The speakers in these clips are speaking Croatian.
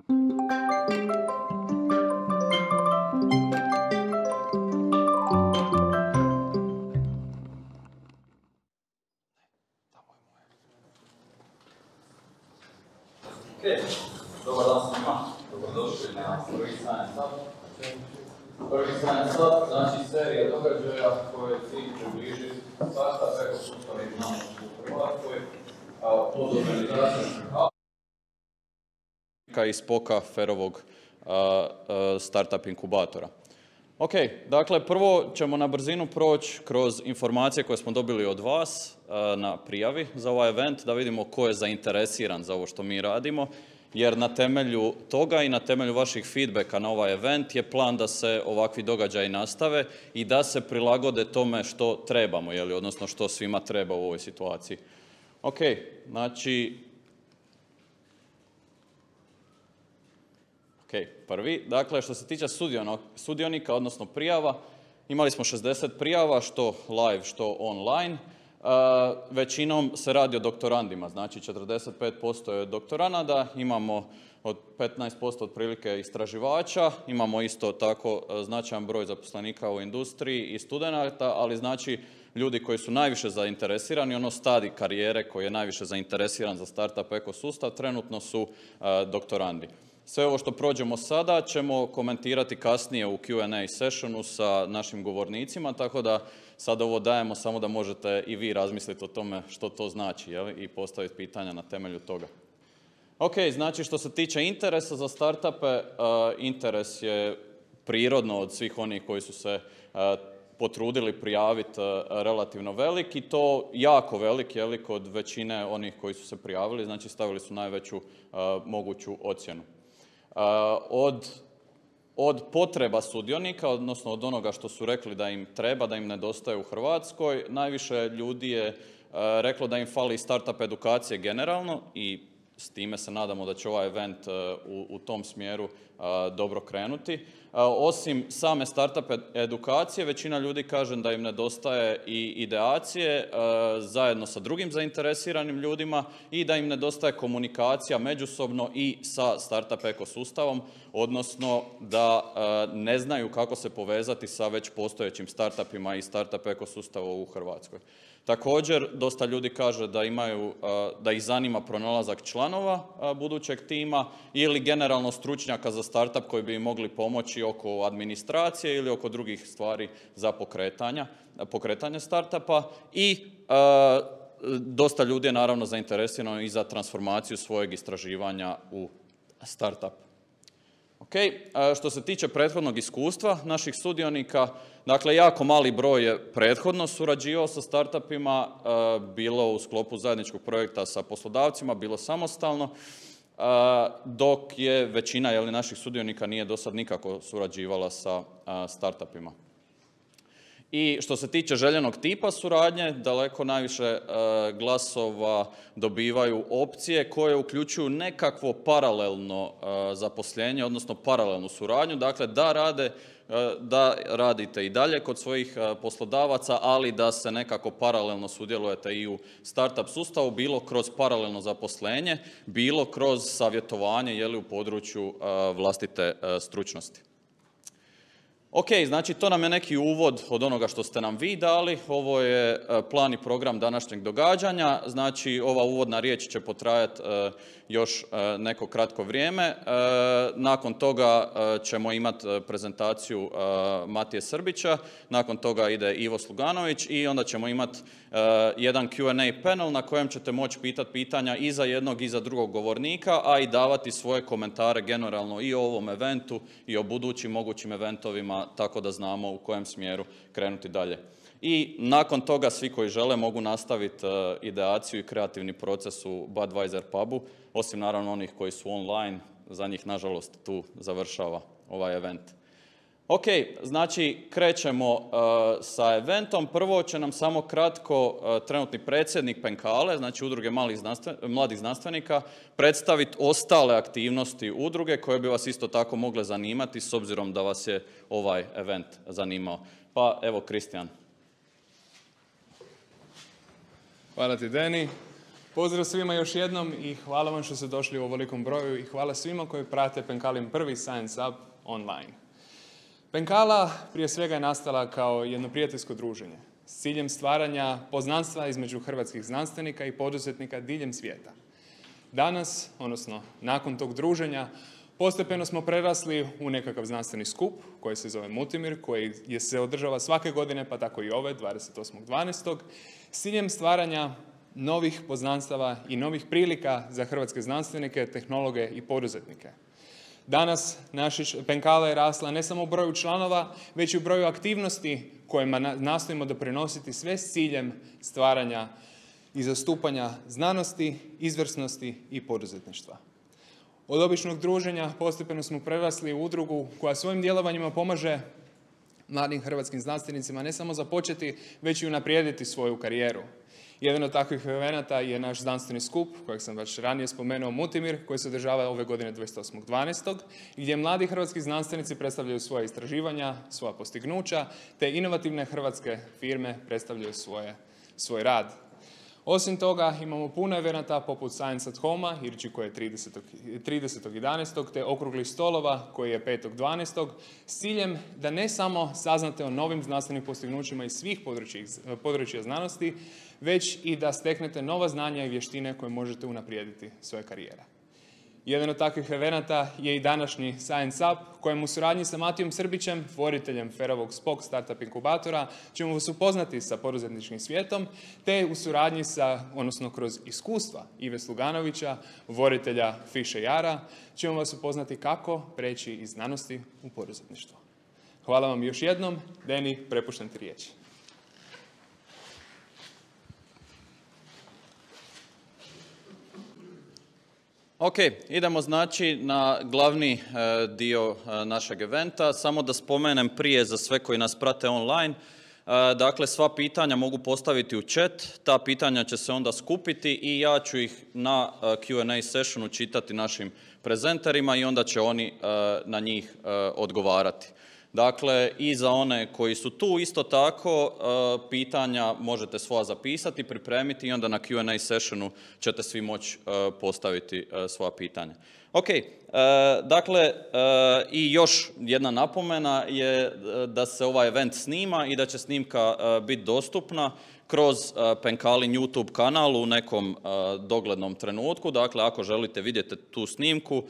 Dobar dan svima, dobrodošli na prvi Science Up. Prvi Science Up znači serija događaja koje je cilj približiti startup ekosustav i znanost u Hrvatskoj pod organizacijom iz POK-a Ferovog startup inkubatora. Ok, dakle prvo ćemo na brzinu proći kroz informacije koje smo dobili od vas na prijavi za ovaj event, da vidimo ko je zainteresiran za ovo što mi radimo, jer na temelju toga i na temelju vaših feedbacka na ovaj event je plan da se ovakvi događaji nastave i da se prilagode tome što trebamo, odnosno što svima treba u ovoj situaciji. Ok, znači prvi, dakle što se tiče sudionika, odnosno prijava, imali smo 60 prijava, što live, što online. Većinom se radi o doktorandima, znači 45% je doktoranada, imamo od 15% otprilike istraživača, imamo isto tako značajan broj zaposlenika u industriji i studenata, ali znači ljudi koji su najviše zainteresirani, ono stadij karijere koji je najviše zainteresiran za startup ekosustav, trenutno su doktorandi. Sve ovo što prođemo sada ćemo komentirati kasnije u Q&A sessionu sa našim govornicima, tako da sad ovo dajemo samo da možete i vi razmisliti o tome što to znači i postaviti pitanja na temelju toga. Ok, znači što se tiče interesa za startupe, interes je prirodno od svih onih koji su se potrudili prijaviti relativno velik i to jako velik, kod većine onih koji su se prijavili, znači stavili su najveću moguću ocjenu. Od potreba sudionika, odnosno od onoga što su rekli da im treba, da im nedostaje u Hrvatskoj, najviše ljudi je reklo da im fali startup edukacije generalno i s time se nadamo da će ovaj event u tom smjeru dobro krenuti. Osim same startup edukacije, većina ljudi kaže da im nedostaje i ideacije zajedno sa drugim zainteresiranim ljudima i da im nedostaje komunikacija međusobno i sa startup ekosustavom, odnosno da ne znaju kako se povezati sa već postojećim startupima i startup ekosustavom u Hrvatskoj. Također, dosta ljudi kaže da ih zanima pronalazak članova budućeg tima ili generalno stručnjaka za startup koji bi im mogli pomoći oko administracije ili oko drugih stvari za pokretanje startupa i dosta ljudi je naravno zainteresirano i za transformaciju svojeg istraživanja u startup. Ok, što se tiče prethodnog iskustva naših sudionika, dakle jako mali broj je prethodno surađivao sa startupima, bilo u sklopu zajedničkog projekta sa poslodavcima, bilo samostalno, dok je većina naših sudionika nije do sad nikako surađivala sa startupima. I što se tiče željenog tipa suradnje, daleko najviše glasova dobivaju opcije koje uključuju nekakvo paralelno zaposlenje, odnosno paralelnu suradnju, dakle da radite i dalje kod svojih poslodavaca, ali da se nekako paralelno sudjelujete i u startup sustavu, bilo kroz paralelno zaposlenje, bilo kroz savjetovanje u području vlastite stručnosti. Ok, znači to nam je neki uvod od onoga što ste nam vi dali. Ovo je plan i program današnjeg događanja. Znači ova uvodna riječ će potrajati još neko kratko vrijeme. Nakon toga ćemo imati prezentaciju Matije Srbića, nakon toga ide Ivo Sluganović i onda ćemo imati jedan Q&A panel na kojem ćete moći pitati pitanja i za jednog i za drugog govornika, a i davati svoje komentare generalno i o ovom eventu i o budućim mogućim eventovima, tako da znamo u kojem smjeru krenuti dalje. I nakon toga svi koji žele mogu nastaviti ideaciju i kreativni proces u Budweiser pubu, osim naravno onih koji su online, za njih nažalost tu završava ovaj event. Ok, znači krećemo sa eventom. Prvo će nam samo kratko trenutni predsjednik Penkale, znači Udruge mladih znanstvenika, predstaviti ostale aktivnosti udruge koje bi vas isto tako mogle zanimati s obzirom da vas je ovaj event zanimao. Pa evo, Kristijan. Hvala ti, Deni. Pozdrav svima još jednom i hvala vam što ste došli u ovolikom broju i hvala svima koji prate Penkalin prvi Science Up online. Penkala prije svega je nastala kao jedno prijateljsko druženje s ciljem stvaranja poznanstva između hrvatskih znanstvenika i poduzetnika diljem svijeta. Danas, odnosno nakon tog druženja, postepeno smo prerasli u nekakav znanstveni skup koji se zove Multimir, koji se održava svake godine, pa tako i ove, 28.12. s ciljem stvaranja novih poznanstava i novih prilika za hrvatske znanstvenike, tehnologe i poduzetnike. Danas naša Penkala je rasla ne samo u broju članova, već i u broju aktivnosti kojima nastojimo doprinositi sve s ciljem stvaranja i zastupanja znanosti, izvrsnosti i poduzetništva. Od običnog druženja postepeno smo prerasli u udrugu koja svojim djelovanjima pomaže mladim hrvatskim znanstvenicima ne samo započeti, već i unaprijediti svoju karijeru. Jedan od takvih evenata je naš znanstveni skup, kojeg sam već ranije spomenuo, Multimir, koji se održava ove godine 28.12. gdje mladi hrvatski znanstvenici predstavljaju svoje istraživanja, svoja postignuća, te inovativne hrvatske firme predstavljaju svoj rad. Osim toga, imamo puno evenata poput Science at Home-a, Irči koji je 30.11. te okruglih stolova koji je 5.12. s ciljem da ne samo saznate o novim znanstvenim postignućima iz svih područja znanosti, već i da steknete nova znanja i vještine koje možete unaprijediti svoje karijere. Jedan od takvih evenata je i današnji Science Up, kojem u suradnji sa Matijom Srbićem, voditeljem FER-ovog Spock Startup inkubatora, ćemo vas upoznati sa poduzetničkim svijetom, te u suradnji odnosno kroz iskustva Ive Sluganovića, voditelja Fish Jara, ćemo vas upoznati kako preći iz znanosti u poduzetništvo. Hvala vam još jednom. Deni, prepuštam ti riječ. Ok, idemo znači na glavni dio našeg eventa. Samo da spomenem prije za sve koji nas prate online. Dakle, sva pitanja mogu postaviti u chat, ta pitanja će se onda skupiti i ja ću ih na Q&A sessionu čitati našim prezenterima i onda će oni na njih odgovarati. Dakle, i za one koji su tu isto tako, pitanja možete svoja zapisati, pripremiti i onda na Q&A sessionu ćete svi moći postaviti svoja pitanja. Ok, dakle, i još jedna napomena je da se ovaj event snima i da će snimka biti dostupna kroz Penkalin YouTube kanal u nekom doglednom trenutku. Dakle, ako želite vidjeti tu snimku,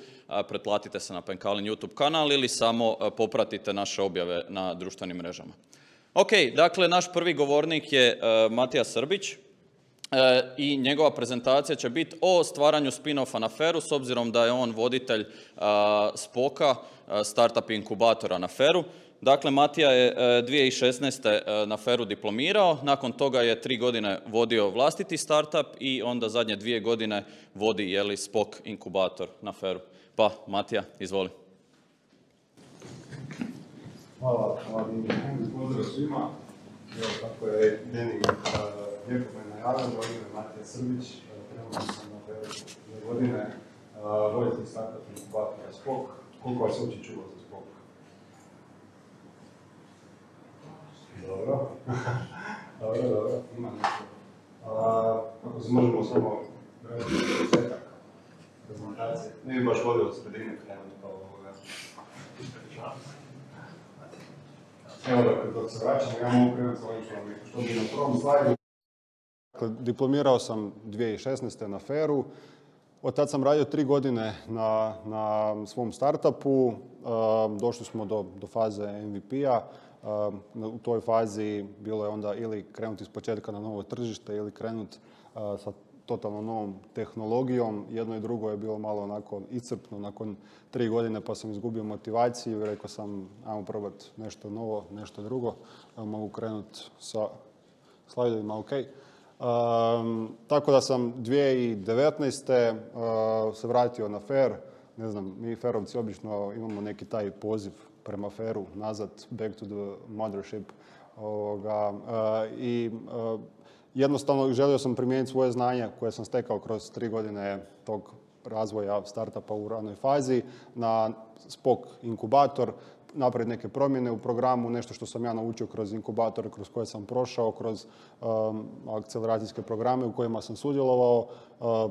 pretplatite se na Penkalin YouTube kanal ili samo popratite naše objave na društvenim mrežama. Ok, dakle, naš prvi govornik je Matija Srbić i njegova prezentacija će biti o stvaranju spin-offa na FER-u, s obzirom da je on voditelj Spocka, startup inkubatora na FER-u. Dakle, Matija je 2016. na FER-u diplomirao, nakon toga je 3 godine vodio vlastiti startup i onda zadnje 2 godine vodi Spock inkubator na FER-u. Pa, Matija, izvoli. Hvala, pozdrav svima. Evo, kako je Deni lijepo me najavio, moje ime je Matija Srbić, trenutno sam na FER-u 2 godine, voditelj startup inkubatora Spock. Koliko vas uopće čuva za Spock? Dobro. Dobro, ima nešto. Ako se možemo samo raditi početak prezentacije. Ne bi baš volio od sredine krenuti pa ovoga. Evo dok se vraćamo, ja mogu krenuti sa ovim što bi na prvom slajdu. Dakle, diplomirao sam 2016. na FER-u. Od tad sam radio 3 godine na svom startupu. Došli smo do faze MVP-a. U toj fazi bilo je onda ili krenuti iz početka na novo tržište ili krenuti sa totalno novom tehnologijom. Jedno i drugo je bilo malo onako iscrpno nakon 3 godine, pa sam izgubio motivaciju i rekao sam ajmo probati nešto novo, nešto drugo. Mogu krenuti sa slajdovima, ok. Tako da sam 2019. Se vratio na FER. Ne znam, mi FER-ovci obično imamo neki taj poziv prema FER-u, nazad, back to the mothership. Jednostavno želio sam primijeniti svoje znanje koje sam stekao kroz 3 godine tog razvoja startupa u ranoj fazi na Spock inkubator. napraviti neke promjene u programu, nešto što sam ja naučio kroz inkubatore kroz koje sam prošao, kroz akceleracijske programe u kojima sam sudjelovao.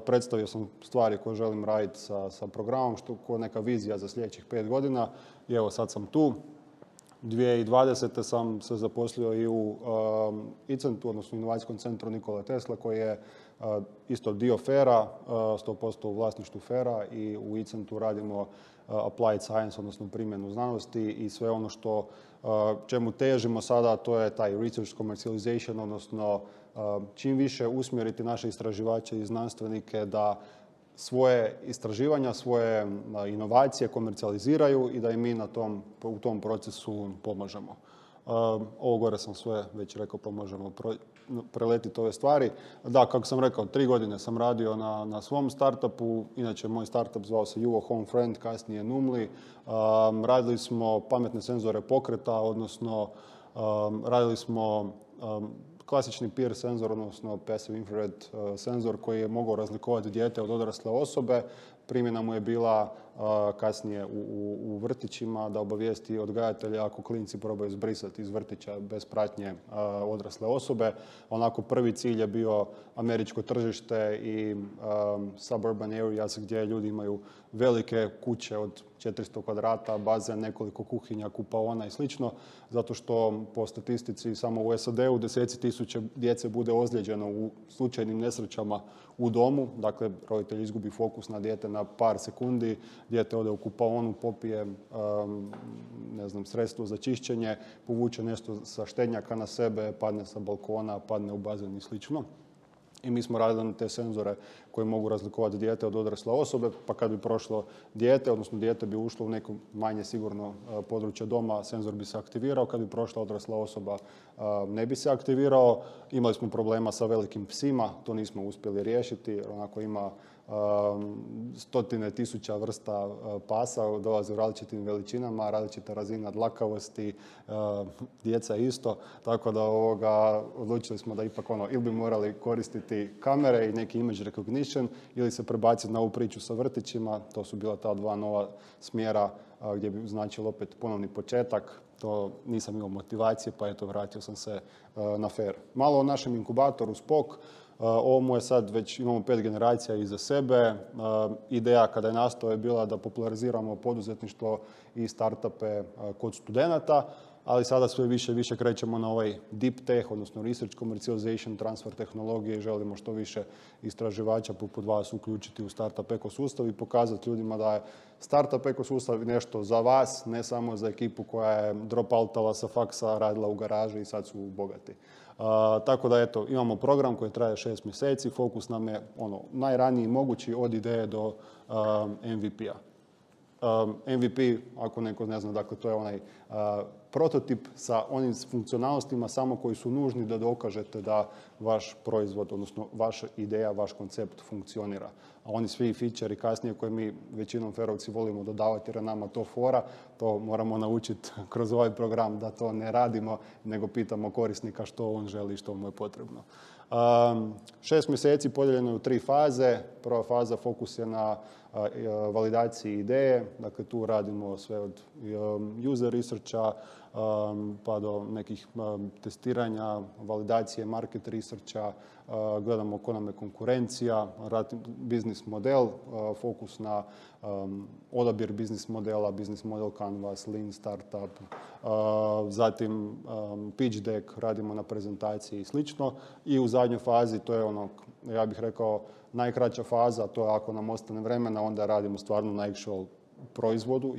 Predstavio sam stvari koje želim raditi sa programom, koja je neka vizija za sljedećih 5 godina. I evo, sad sam tu. 2020. sam se zaposlio i u ICENT-u, odnosno Inovacijskom centru Nikola Tesla, koji je isto dio FAIR-a, 100% u vlasništvu FAIR-a, i u ICENT-u radimo applied science, odnosno primjenu znanosti i sve ono što čemu težimo sada, to je taj research commercialization, odnosno čim više usmjeriti naše istraživače i znanstvenike da svoje istraživanja, svoje inovacije komercijaliziraju i da im mi u tom procesu pomažemo. Ovo gore sam sve već rekao, pa možemo preletiti ove stvari. Da, kako sam rekao, 3 godine sam radio na svom startupu. Inače, moj startup zvao se Juvo Home Friend, kasnije Numli. Radili smo pametne senzore pokreta, odnosno radili smo klasični PIR senzor, odnosno Passive Infrared senzor koji je mogao razlikovati dijete od odrasle osobe. Primjena mu je bila kasnije u vrtićima da obavijesti odgajatelja ako klinci probaju zbrisati iz vrtića bez pratnje odrasle osobe. Onako, prvi cilj je bio američko tržište i suburban areas gdje ljudi imaju velike kuće od 400 kvadrata, bazen, nekoliko kuhinja, kupaona i slično, zato što po statistici samo u SAD-u 10.000 djece bude ozlijeđeno u slučajnim nesrećama u domu. Dakle, roditelj izgubi fokus na dijete na par sekundi, dijete ode u kupaonu, popije sredstvo za čišćenje, povuče nešto sa štednjaka na sebe, padne sa balkona, padne u bazen i slično. I mi smo radili na te senzore koji mogu razlikovati dijete od odrasle osobe, pa kad bi prošlo dijete, odnosno dijete bi ušlo u neko manje sigurno područje doma, senzor bi se aktivirao. Kad bi prošla odrasla osoba, ne bi se aktivirao. Imali smo problema sa velikim psima, to nismo uspjeli riješiti. Onako, ima stotine tisuća vrsta pasa, dolaze u različitim veličinama, različita razina dlakavosti, djeca isto, tako da odlučili smo da ipak ili bi morali koristiti kamere i neki image recognition ili se prebaciti na ovu priču sa vrtićima. To su bila ta 2 nova smjera gdje bi značilo opet ponovni početak. To nisam imao motivacije, pa eto, vratio sam se na FAIR. Malo o našem inkubatoru SPOK. Ovo mu je sad već, imamo 5 generacija iza sebe. Ideja kada je nastao je bila da populariziramo poduzetništvo i startupe kod studenata, ali sada sve više i više krećemo na ovaj deep tech, odnosno research commercialization, transfer tehnologije i želimo što više istraživača poput vas uključiti u startup ekosustav i pokazati ljudima da je startup ekosustav nešto za vas, ne samo za ekipu koja je dropoutala sa faksa, radila u garaži i sad su bogati. Tako da eto, imamo program koji traje 6 mjeseci, fokus nam je najraniji mogući od ideje do MVP-a. MVP, ako neko ne zna, dakle to je onaj prototip sa onim funkcionalnostima samo koji su nužni da dokažete da vaš proizvod, odnosno vaša ideja, vaš koncept funkcionira. A oni svi feature kasnije koje mi većinom ferovci volimo dodavati jer je nama to fora, to moramo naučiti kroz ovaj program da to ne radimo, nego pitamo korisnika što on želi i što mu je potrebno. 6 mjeseci podijeljeno je u 3 faze. Prva faza fokus je na validaciji ideje, dakle tu radimo sve od user researcha pa do nekih testiranja, validacije, market researcha, gledamo ko nam je konkurencija, biznis model, fokus na odabir biznis modela, biznis model Canvas, Lean Startup, zatim pitch deck, radimo na prezentaciji i slično. I u zadnjoj fazi, to je ja bih rekao, najkraća faza, to je ako nam ostane vremena, onda radimo stvarno na actual proizvodu,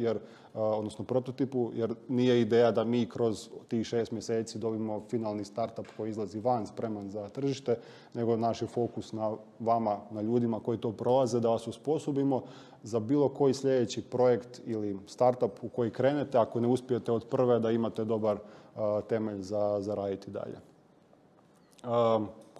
odnosno prototipu, jer nije ideja da mi kroz tih 6 mjeseci dobimo finalni startup koji izlazi van spreman za tržište, nego naš je fokus na vama, na ljudima koji to prolaze, da vas osposobimo za bilo koji sljedeći projekt ili startup u koji krenete, ako ne uspijete od prve, da imate dobar temelj za raditi dalje.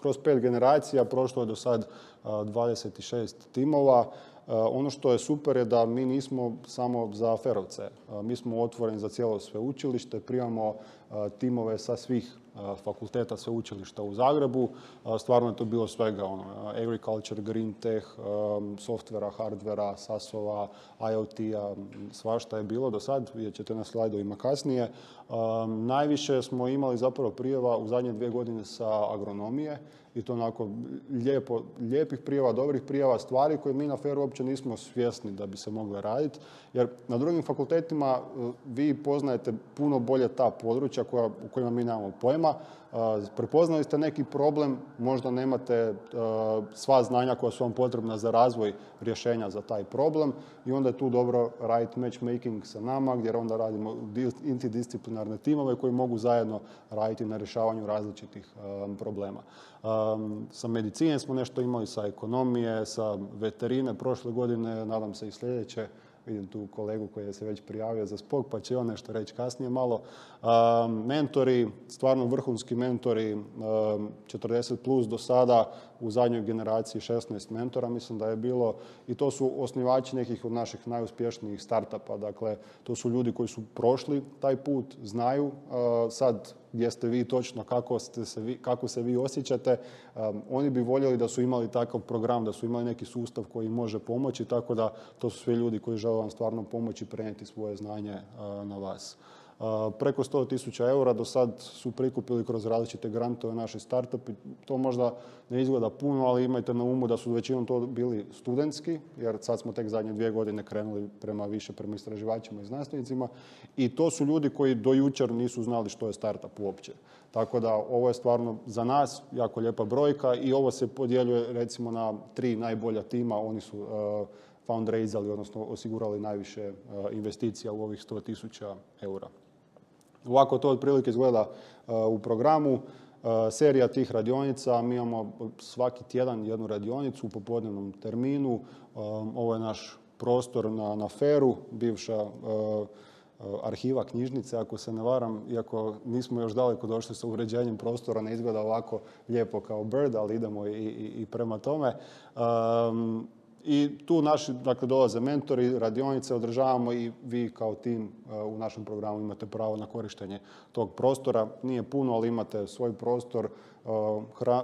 Kroz 5 generacija prošlo je do sad 26 timova. Ono što je super je da mi nismo samo za ferovce. Mi smo otvoreni za cijelo sveučilište, primamo timove sa svih fakulteta sveučilišta u Zagrebu. Stvarno je to bilo svega, agriculture, green tech, softvera, hardvera, SAS-ova, IoT-a, svašta je bilo do sad, vidjet ćete na slajdovima kasnije. Najviše smo imali zapravo prijava u zadnje 2 godine sa agronomije i to onako lijepih prijava, dobrih prijava, stvari koje mi na FER-u uopće nismo svjesni da bi se mogle raditi. Jer na drugim fakultetima vi poznajete puno bolje ta područja u kojima mi nemamo pojma. Prepoznali ste neki problem, možda nemate sva znanja koja su vam potrebna za razvoj rješenja za taj problem i onda je tu dobro raditi matchmaking sa nama gdje onda radimo interdisciplinarne timove koji mogu zajedno raditi na rješavanju različitih problema. Sa medicine smo nešto imali, sa ekonomije, sa veterine prošle godine, nadam se i sljedeće. Vidim tu kolegu koji je se već prijavio za SPOK, pa će on nešto reći kasnije malo. Mentori, stvarno vrhunski mentori, 40 plus do sada, u zadnjoj generaciji 16 mentora mislim da je bilo i to su osnivači nekih od naših najuspješnijih startupa. Dakle, to su ljudi koji su prošli taj put, znaju sad gdje ste vi točno, kako se vi osjećate. Oni bi voljeli da su imali takav program, da su imali neki sustav koji im može pomoći, tako da to su svi ljudi koji žele vam stvarno pomoći i prenijeti svoje znanje na vas. Preko 100.000 eura do sad su prikupili kroz različite grantove naši startupi. To možda ne izgleda puno, ali imajte na umu da su većinom to bili studentski, jer sad smo tek zadnje 2 godine krenuli prema istraživačima i znanstvenicima. I to su ljudi koji do jučer nisu znali što je startup uopće. Tako da ovo je stvarno za nas jako lijepa brojka i ovo se podjeljuje recimo na 3 najbolja tima. Oni su fundraisali, odnosno osigurali najviše investicija u ovih 100.000 eura. Ovako to otprilike izgleda u programu. Serija tih radionica, mi imamo svaki tjedan jednu radionicu u popodnevnom terminu. Ovo je naš prostor na FER-u, bivša arhiva knjižnice, ako se ne varam, iako nismo još daleko došli sa uređenjem prostora, ne izgleda ovako lijepo kao Bird, ali idemo i prema tome. I tu naši, dakle, dolaze mentori, radionice održavamo i vi kao tim u našem programu imate pravo na korištenje tog prostora. Nije puno, ali imate svoj prostor,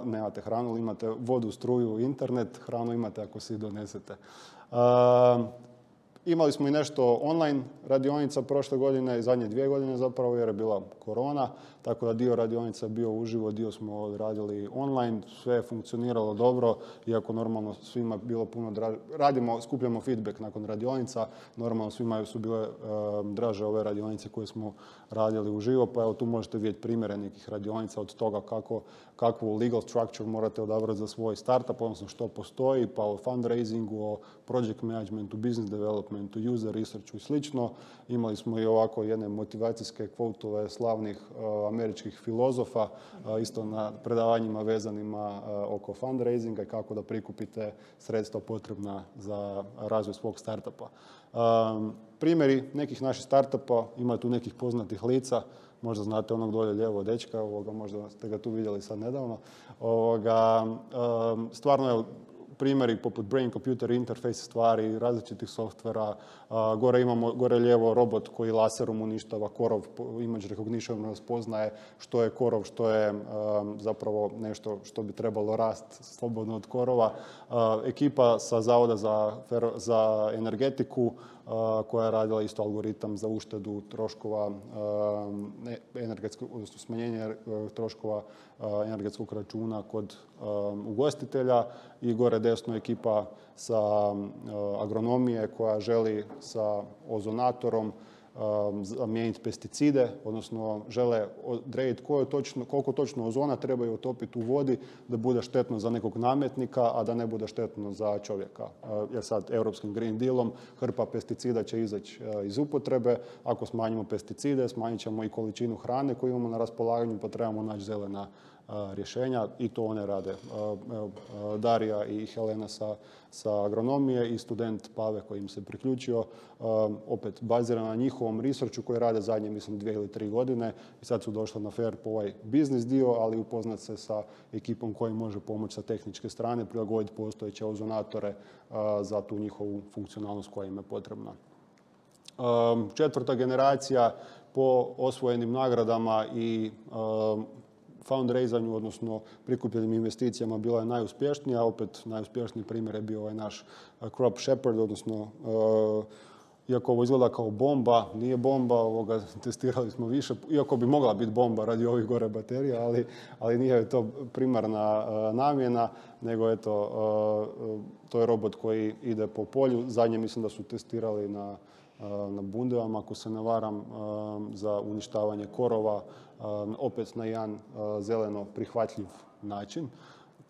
nemate hranu, ali imate vodu, struju, internet, hranu imate ako si donesete. Imali smo i nešto online radionica prošle godine i zadnje 2 godine zapravo jer je bila korona, tako da dio radionica je bio uživo, dio smo radili online, sve je funkcioniralo dobro, iako normalno svima bilo puno draže. Skupljamo feedback nakon radionica, normalno svima su bile draže ove radionice koje smo radili uživo, pa evo tu možete vidjeti primjere nekih radionica od toga kakvu legal structure morate odabrati za svoj startup, odnosno što postoji, pa o fundraisingu, o project managementu, business developmentu, user researchu i slično. Imali smo i ovako jedne motivacijske kvotove slavnih američkih filozofa, isto na predavanjima vezanima oko fundraisinga i kako da prikupite sredstva potrebna za razvoj svog startupa. Primjeri nekih naših startupa, ima tu nekih poznatih lica, možda znate onog dolje lijevo dečka, možda ste ga tu vidjeli sad nedavno. Stvarno je primjeri poput brain computer interface stvari, različitih softvera. Gore lijevo robot koji laserom uništava korov, image recognition raspoznaje što je korov, što je zapravo nešto što bi trebalo rasti slobodno od korova. Ekipa sa Zavoda za energetiku koja je radila isto algoritam za uštedu troškova, odnosno smanjenje troškova energetskog računa kod ugostitelja i gore desno ekipa sa agronomije koja želi sa ozonatorom zamijeniti pesticide, odnosno žele odrediti koliko točno ozona trebaju otopiti u vodi da bude štetno za nekog nametnika, a da ne bude štetno za čovjeka. Jer sad europskim Green Dealom hrpa pesticida će izaći iz upotrebe. Ako smanjimo pesticide, smanjit ćemo i količinu hrane koju imamo na raspolaganju, pa trebamo naći zelena rješenja i to one rade. Darija i Helena sa agronomije i student Pave koji im se priključio, opet bazirano na njihovom researchu koji rade zadnje, mislim, 2 ili 3 godine i sad su došli na FER po ovaj biznis dio, ali upoznat se sa ekipom koji može pomoći sa tehničke strane, prilagoditi postojeće ozonatore za tu njihovu funkcionalnost koja im je potrebna. 4. generacija po osvojenim nagradama i fundraisanju, odnosno prikupljenim investicijama bila je najuspješnija. Opet najuspješniji primjer je bio ovaj naš Crop Shepherd, odnosno iako ovo izgleda kao bomba, nije bomba, testirali smo više, iako bi mogla biti bomba radi ovih gore baterija, ali nije to primarna namjena, nego eto, to je robot koji ide po polju. Zadnje mislim da su testirali na bundevama, ako se ne varam, za uništavanje korova, opet na jedan zeleno prihvatljiv način.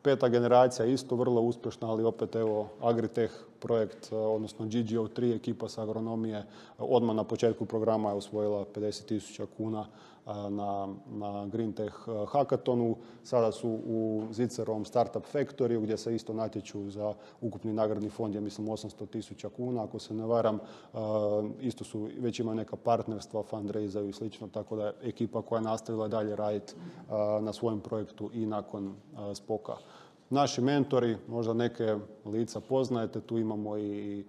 5. generacija isto vrlo uspješna, ali opet evo Agritech projekt, odnosno GGO3 ekipa sa agronomije odmah na početku programa je osvojila 50.000 kuna na Green Tech Hackathonu. Sada su u Zicerovom Startup Factory gdje se isto natječu za ukupni nagradni fond, je mislim 800.000 kuna, ako se ne varam. Isto su, već imaju neka partnerstva, fundraisaju i slično, tako da je ekipa koja je nastavila dalje raditi na svojem projektu i nakon Spoka. Naši mentori, možda neke lica poznajete, tu imamo i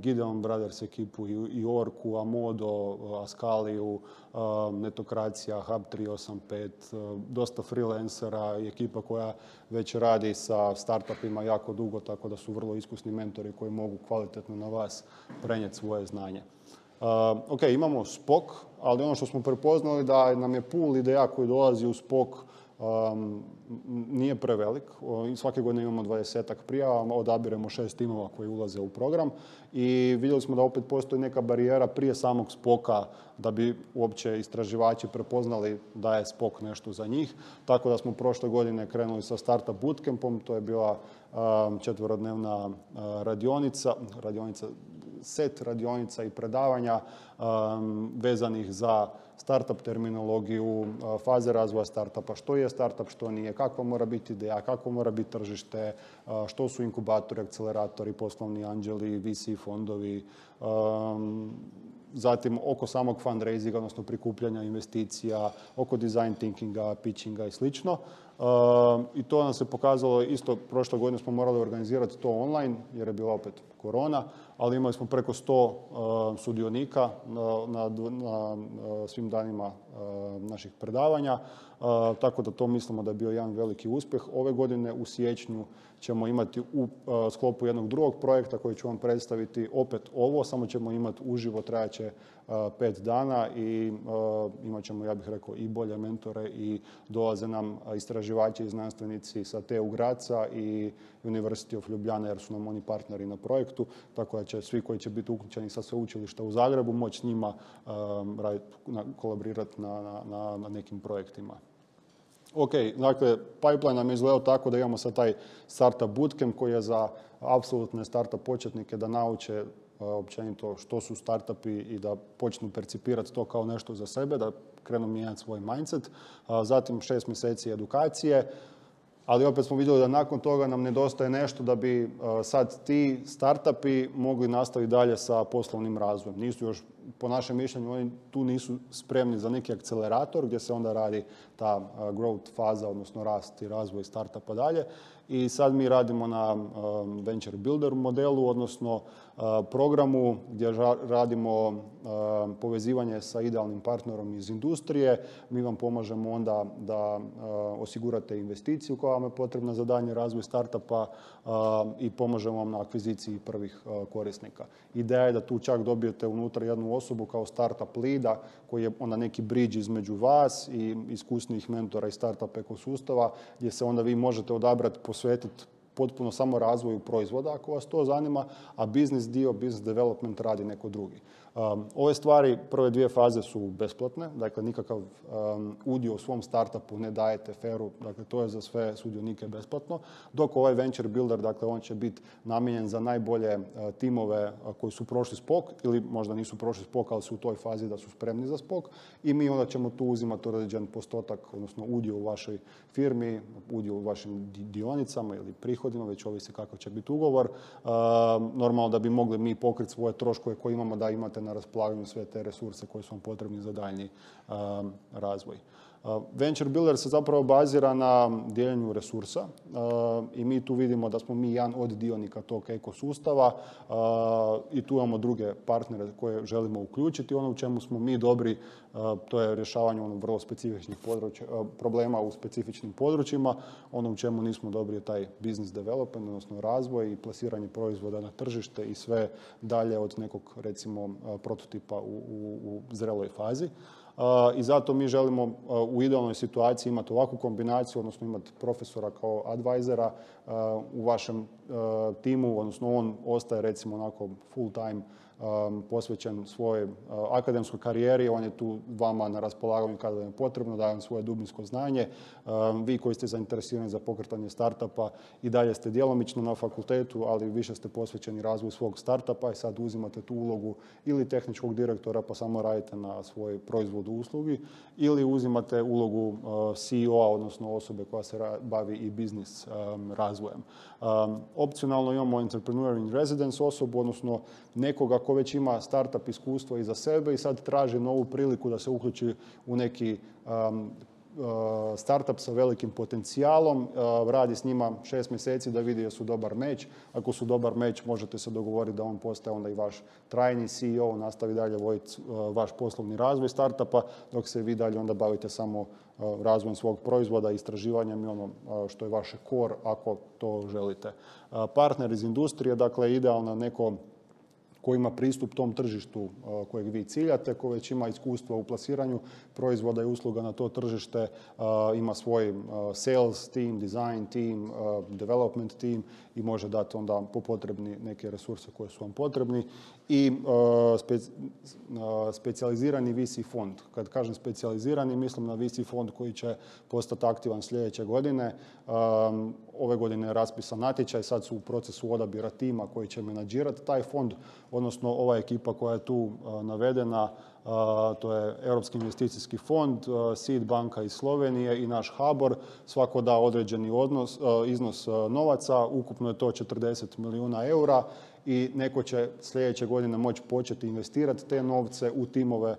Gideon Brothers ekipu, i Orku, Amodo, Askaliju, Netokracija, Hub 385, dosta freelancera i ekipa koja već radi sa startupima jako dugo, tako da su vrlo iskusni mentori koji mogu kvalitetno na vas prenijeti svoje znanje. Ok, imamo Spok, ali ono što smo prepoznali da nam je pool ideja koji dolazi u Spok nije prevelik. Svake godine imamo 20-ak prijava, odabiremo 6 timova koji ulaze u program i vidjeli smo da opet postoji neka barijera prije samog Spoka da bi uopće istraživači prepoznali da je Spok nešto za njih. Tako da smo prošle godine krenuli sa Startup Bootcampom, to je bila 4-dnevna set radionica i predavanja vezanih za startup terminologiju, faze razvoja startupa, što je startup, što nije, kakva mora biti ideja, kako mora biti tržište, što su inkubatori, akceleratori, poslovni anđeli, VC fondovi, zatim oko samog fundraisinga, odnosno prikupljanja investicija, oko design thinkinga, pitchinga i slično. I to nam se pokazalo isto, prošle godine smo morali organizirati to online, jer je bila opet korona, ali imali smo preko 100 sudionika na svim danima naših predavanja, tako da to mislimo da je bio jedan veliki uspjeh. Ove godine u siječnju ćemo imati u sklopu jednog drugog projekta koji ću vam predstaviti opet ovo, samo ćemo imati uživo, trajaće 5 dana i imat ćemo, ja bih rekao, i bolje mentore i dolaze nam istraživači i znanstvenici sa TU Graca i University of Ljubljana, jer su nam oni partneri na projektu, tako da će svi koji će biti uključeni sa sveučilišta u Zagrebu moći s njima kolaborirati na nekim projektima. Ok, dakle, pipeline nam je izgledao tako da imamo sad taj Startup Bootcamp koji je za apsolutne startup početnike da nauče općenito što su startupi i da počnu percipirati to kao nešto za sebe, da krenu mijenjati svoj mindset. Zatim 6 mjeseci edukacije, ali opet smo vidjeli da nakon toga nam nedostaje nešto da bi sad ti startupi mogli nastaviti dalje sa poslovnim razvojem. Nisu još, po našem mišljenju, oni tu nisu spremni za neki akcelerator gdje se onda radi ta growth faza, odnosno rast i razvoj startupa dalje. I sad mi radimo na venture builder modelu, odnosno programu gdje radimo povezivanje sa idealnim partnerom iz industrije. Mi vam pomažemo onda da osigurate investiciju koja vam je potrebna za daljnji razvoj startupa i pomažemo vam na akviziciji prvih korisnika. Ideja je da tu čak dobijete unutra jednu osobu kao startup leada koji je onda neki bridge između vas i iskusnijih mentora iz startup ekosustava gdje se onda vi možete odabrati, posvetiti potpuno samo razvoju proizvoda ako vas to zanima, a business development radi neko drugi. Ove stvari, prve 2 faze su besplatne, dakle nikakav udio u svom startupu ne dajete feru, dakle to je za sve sudionike besplatno, dok ovaj venture builder, dakle on će biti namijenjen za najbolje timove koji su prošli Spok ili možda nisu prošli Spok, ali su u toj fazi da su spremni za Spok i mi onda ćemo tu uzimati određen postotak, odnosno udio u vašoj firmi, udio u vašim dionicama ili prihodima, već ovisi kakav će biti ugovor. Normalno da bi mogli mi pokriti svoje troškove koje imamo, da imate na raspolaganju sve te resurse koji su vam potrebni za daljnji razvoj. Venture Builder se zapravo bazira na dijeljenju resursa i mi tu vidimo da smo mi jedan od dionika tog ekosustava i tu imamo druge partnere koje želimo uključiti. Ono u čemu smo mi dobri, to je rješavanje vrlo specifičnih problema u specifičnim područjima. Ono u čemu nismo dobri je taj business development, odnosno razvoj i plasiranje proizvoda na tržište i sve dalje od nekog, recimo, prototipa u zreloj fazi. I zato mi želimo u idealnoj situaciji imati ovakvu kombinaciju, odnosno imati profesora kao advisora u vašem timu, odnosno on ostaje recimo onako full time posvećen svojoj akademskoj karijeri, on je tu vama na raspolaganju kada vam je potrebno, daje vam svoje dubinsko znanje. Vi koji ste zainteresirani za pokretanje startupa i dalje ste djelomično na fakultetu, ali više ste posvećeni razvoju svog startupa i sad uzimate tu ulogu ili tehničkog direktora pa samo radite na svoj proizvod u uslugi, ili uzimate ulogu CEO-a, odnosno osobe koja se bavi i biznis razvojem. Opcionalno imamo entrepreneur in residence osobu, odnosno nekoga ko već ima startup iskustvo iza sebe i sad traži novu priliku da se uključi u neki startup sa velikim potencijalom, radi s njima 6 mjeseci da vidi jesu dobar meč. Ako su dobar meč, možete se dogovoriti da on postaje onda i vaš trajni CEO, nastavi dalje voditi vaš poslovni razvoj startupa, dok se vi dalje onda bavite samo razvojem svog proizvoda, istraživanjem i ono što je vaše core, ako to želite. Partner iz industrije, dakle, idealno neko koji ima pristup tom tržištu kojeg vi ciljate, koji već ima iskustva u plasiranju proizvoda i usluga na to tržište, ima svoj sales team, design team, development team i može dati onda po potrebni neke resurse koje su vam potrebni. I specijalizirani VC fond. Kad kažem specijalizirani, mislim na VC fond koji će postati aktivan sljedeće godine. Ove godine je raspisan natječaj, sad su u procesu odabira tima koji će menadžirati taj fond, odnosno ova ekipa koja je tu navedena, to je Europski investicijski fond, Seed banka iz Slovenije i naš HBOR. Svako da određeni iznos novaca, ukupno je to 40 milijuna eura i neko će sljedeće godine moći početi investirati te novce u timove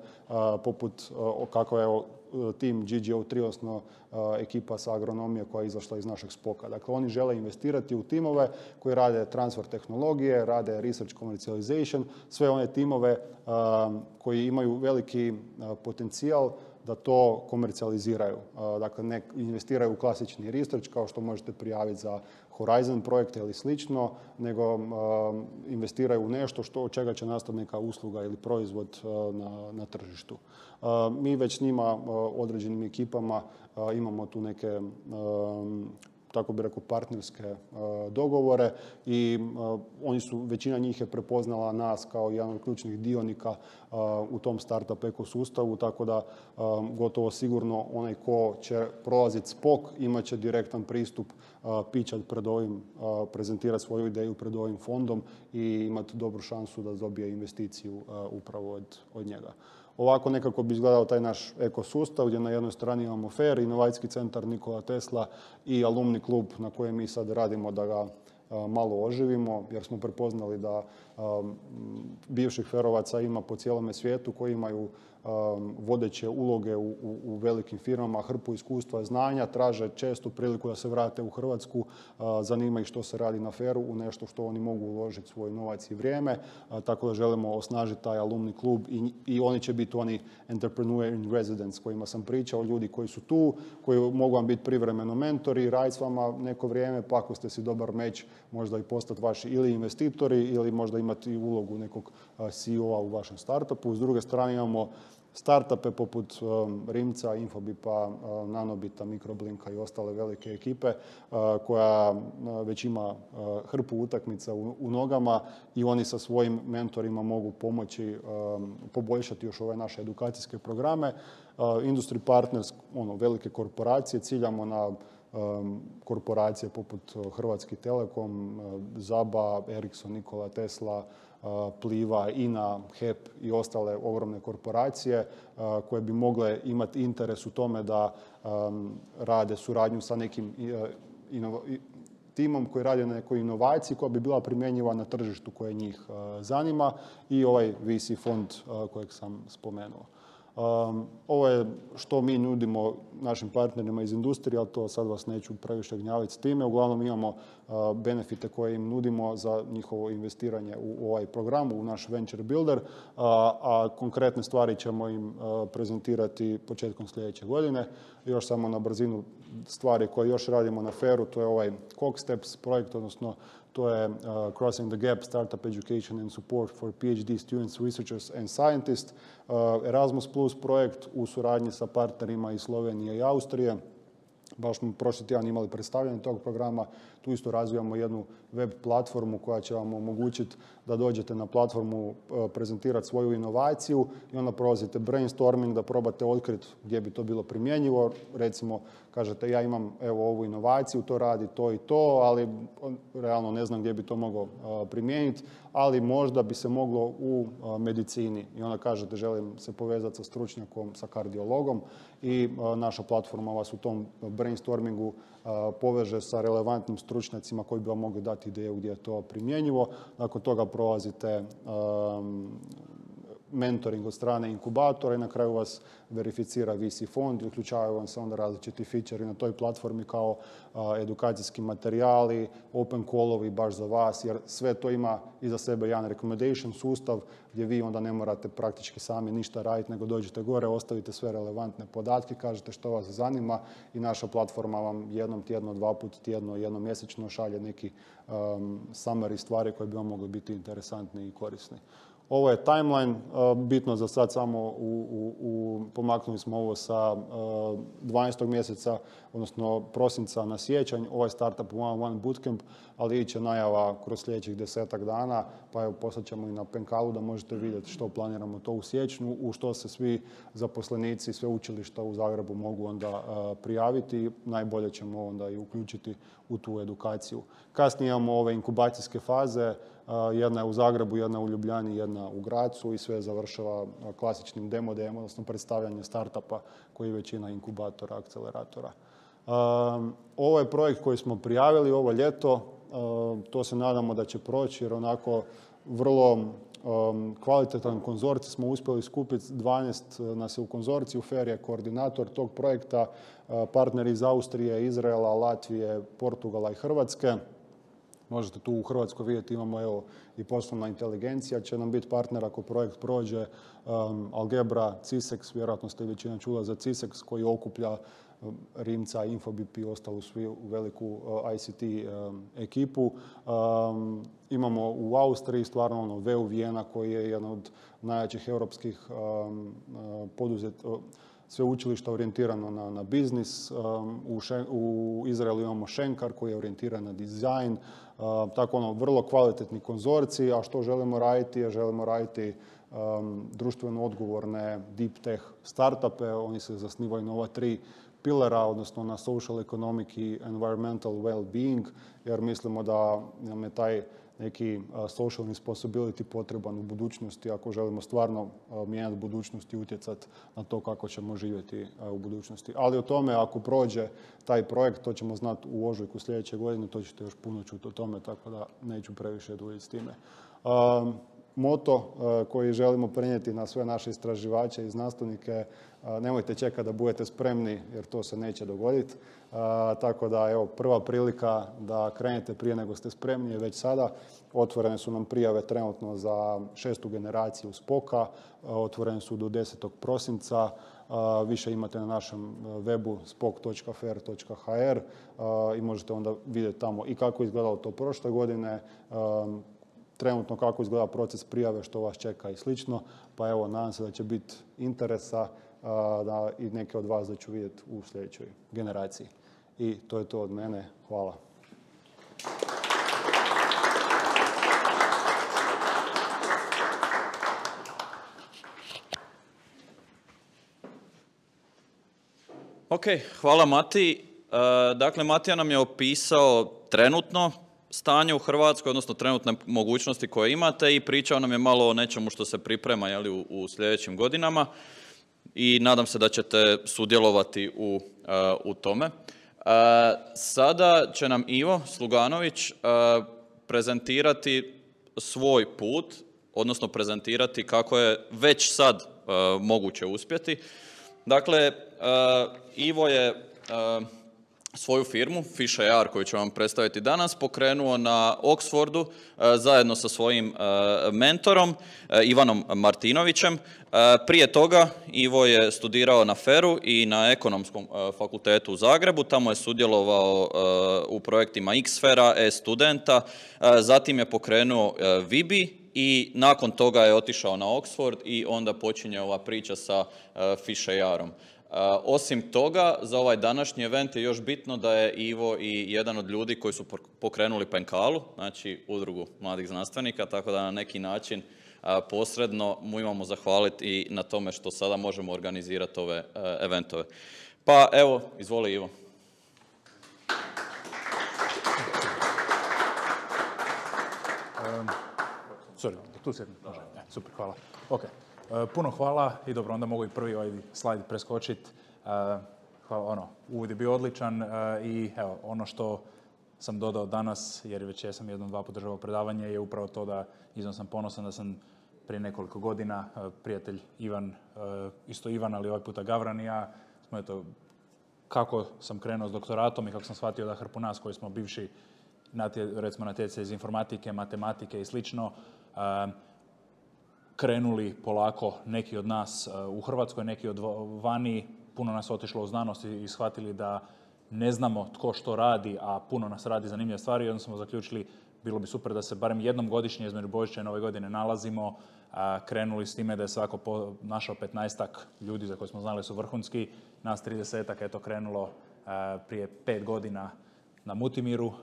poput kako je tim GGO3, odnosno ekipa sa agronomije koja je izašla iz našeg spoka. Dakle, oni žele investirati u timove koji rade transfer tehnologije, rade research commercialization, sve one timove koji imaju veliki potencijal da to komercijaliziraju. Dakle, ne investiraju u klasični research kao što možete prijaviti za Horizon projekte ili slično, nego investiraju u nešto od čega će nastati neka usluga ili proizvod na tržištu. Mi već s njima, određenim ekipama, imamo tu neke, tako bi rekao, partnerske dogovore i većina njih je prepoznala nas kao jedan od ključnih dionika u tom startup ekosustavu, tako da gotovo sigurno onaj ko će prolaziti spok imat će direktan pristup pičat pred ovim, prezentirati svoju ideju pred ovim fondom i imati dobru šansu da dobije investiciju upravo od njega. Ovako nekako bi izgledao taj naš ekosustav gdje na jednoj strani imamo FAIR, inovacijski centar Nikola Tesla i alumni klub na kojem mi sad radimo da ga malo oživimo jer smo prepoznali da bivših ferovaca ima po cijelome svijetu koji imaju vodeće uloge u velikim firmama, hrpu iskustva, znanja, traže često priliku da se vrate u Hrvatsku, zanima ih što se radi na FAIR-u, u nešto što oni mogu uložiti svoj novac i vrijeme, tako da želimo osnažiti taj alumni klub i oni će biti oni entrepreneur in residence kojima sam pričao, ljudi koji su tu, koji mogu vam biti privremeno mentori, raditi s vama neko vrijeme, pa ako ste si dobar meč, možda i postati vaši ili investitori ili možda imati ulogu nekog CEO-a u vašem startupu. S druge strane imamo startupe poput Rimca, Infobipa, Nanobita, Mikroblinka i ostale velike ekipe koja već ima hrpu utakmica u nogama i oni sa svojim mentorima mogu pomoći poboljšati još ove naše edukacijske programe. Industry partners, velike korporacije, ciljamo na korporacije poput Hrvatski Telekom, ZABA, Ericsson, Nikola Tesla, Pliva, INA, HEP i ostale ogromne korporacije koje bi mogle imati interes u tome da rade suradnju sa nekim timom koji radi na nekoj inovaciji koja bi bila primjenjiva na tržištu koje njih zanima i ovaj VC fond kojeg sam spomenuo. Ovo je što mi nudimo našim partnerima iz industrije, ali to sad vas neću previše gnjaviti s time. Uglavnom imamo benefite koje im nudimo za njihovo investiranje u ovaj program, u naš Venture Builder, a konkretne stvari ćemo im prezentirati početkom sljedeće godine. Još samo na brzinu stvari koje još radimo na FAIR-u, to je ovaj CogSteps projekt, odnosno to je Crossing the Gap Startup Education and Support for PhD Students, Researchers and Scientists, Erasmus Plus projekt u suradnji sa partnerima iz Slovenije i Austrije. Baš smo prošli tjedan imali predstavljanje tog programa. Tu isto razvijamo jednu web platformu koja će vam omogućiti da dođete na platformu, prezentirati svoju inovaciju i onda prolazite brainstorming da probate otkriti gdje bi to bilo primjenjivo. Recimo, kažete ja imam evo ovu inovaciju, to radi to i to, ali realno ne znam gdje bi to mogao primijeniti, ali možda bi se moglo u medicini. I onda kažete želim se povezati sa stručnjakom, sa kardiologom i naša platforma vas u tom brainstormingu poveže sa relevantnim stručnjacima koji bi vam mogli dati ideju gdje je to primjenjivo. Nakon toga prolazite mentoring od strane inkubatora i na kraju vas verificira VC fond i uključavaju vam se onda različiti feature na toj platformi kao edukacijski materijali, open callovi baš za vas, jer sve to ima iza sebe jedan recommendation sustav gdje vi onda ne morate praktički sami ništa raditi, nego dođete gore, ostavite sve relevantne podatke, kažete što vas zanima i naša platforma vam jednom tjedno, 2 puta tjedno, jednom mjesečno šalje neki summary stvari koje bi vam mogli biti interesantni i korisni. Ovo je timeline, bitno za sad samo pomaknuli smo ovo sa 12. mjeseca, odnosno prosinca na siječanj, ovaj Startup 101 Bootcamp, ali iće najava kroz sljedećih 10-ak dana, pa evo poslat ćemo i na Penkalu da možete vidjeti što planiramo to u siječnju, u što se svi zaposlenici, sve učilišta u Zagrebu mogu onda prijaviti, najbolje ćemo onda i uključiti u tu edukaciju. Kasnije imamo ove inkubacijske faze, jedna je u Zagrebu, jedna u Ljubljani, jedna u Gracu i sve završava klasičnim demo day-em, odnosno predstavljanje startupa koji je većina inkubatora, akceleratora. Ovo je projekt koji smo prijavili ovo ljeto, to se nadamo da će proći jer onako vrlo kvalitetan konzorcij smo uspjeli skupiti, 12 nas je u konzorciju, FAIR je koordinator tog projekta, partneri iz Austrije, Izraela, Latvije, Portugala i Hrvatske. Možete tu u Hrvatskoj vidjeti, imamo evo i poslovna inteligencija, će nam biti partner ako projekt prođe, Algebra, CISEX, vjerojatno ste većina čula za CISEX koji okuplja Rimca, Infobip i ostalu svi veliku ICT ekipu. Imamo u Austriji stvarno VU Vijena koji je jedan od najjačih europskih sveučilišta orijentirano na biznis. U Izraelu imamo Shenkar koji je orijentiran na dizajn. Tako vrlo kvalitetni konzorciji, a što želimo raditi? Želimo raditi društveno odgovorne deep tech startupe. Oni se zasnivaju na ova 3 pilara, odnosno na social, economic i environmental well-being, jer mislimo da nam je taj neki social responsibility potreban u budućnosti ako želimo stvarno mijenjati budućnost i utjecati na to kako ćemo živjeti u budućnosti. Ali o tome ako prođe taj projekt, to ćemo znati u ožujku sljedeće godine, to ćete još puno čuti o tome, tako da neću previše duljiti s time. Moto koji želimo prenijeti na sve naše istraživače i znanstvenike, nemojte čekati da budete spremni jer to se neće dogoditi. Tako da evo prva prilika da krenete prije nego ste spremni je već sada. Otvorene su nam prijave trenutno za 6. generaciju Spoka, otvorene su do 10. prosinca. Više imate na našem webu spok.fair.hr i možete onda vidjeti tamo i kako izgledalo to prošle godine, trenutno kako izgleda proces prijave, što vas čeka i slično. Pa evo, nadam se da će biti interesa da i neke od vas da ću vidjeti u sljedećoj generaciji. I to je to od mene. Hvala. Ok, hvala Mati. Dakle, Matija nam je opisao trenutno stanje u Hrvatskoj, odnosno trenutne mogućnosti koje imate i pričao nam je malo o nečemu što se priprema u sljedećim godinama i nadam se da ćete sudjelovati u tome. Sada će nam Ivo Sluganović prezentirati svoj put, odnosno prezentirati kako je već sad moguće uspjeti. Dakle, Ivo je svoju firmu, Fish AR, koju ću vam predstaviti danas, pokrenuo na Oxfordu zajedno sa svojim mentorom Ivanom Martinovićem. Prije toga Ivo je studirao na FER-u i na Ekonomskom fakultetu u Zagrebu. Tamo je sudjelovao u projektima Xfera, e-studenta. Zatim je pokrenuo Vibi i nakon toga je otišao na Oxford i onda počinje ova priča sa Fish AR-om. Osim toga, za ovaj današnji event je još bitno da je Ivo i jedan od ljudi koji su pokrenuli Penkalu, znači udrugu mladih znanstvenika, tako da na neki način posredno mu imamo zahvaliti i na tome što sada možemo organizirati ove eventove. Pa evo, izvoli Ivo. Tu sjedim. Super, hvala. Ok. Puno hvala i dobro, onda mogu i prvi ovaj slajd preskočiti. Uvod je bio odličan i evo, ono što sam dodao danas, jer već jesam jednom, dva puta državao predavanje, je upravo to da iznimno sam ponosan da sam prije nekoliko godina prijatelj Ivan, isto Ivan, ali ovaj puta Gavran i ja, smo eto, kako sam krenuo s doktoratom i kako sam shvatio da hrpu nas koji smo bivši recimo natjecatelji iz informatike, matematike i slično, krenuli polako neki od nas u Hrvatskoj, neki od vani, puno nas otišlo u znanost i shvatili da ne znamo tko što radi, a puno nas radi zanimljive stvari i onda smo zaključili bilo bi super da se barem jednom godišnje između Božića i Nove godine nalazimo, krenuli s time da je svako našao 15-ak ljudi za koje smo znali su vrhunski, nas 30-ak je to krenulo prije 5 godina na Mutimiru,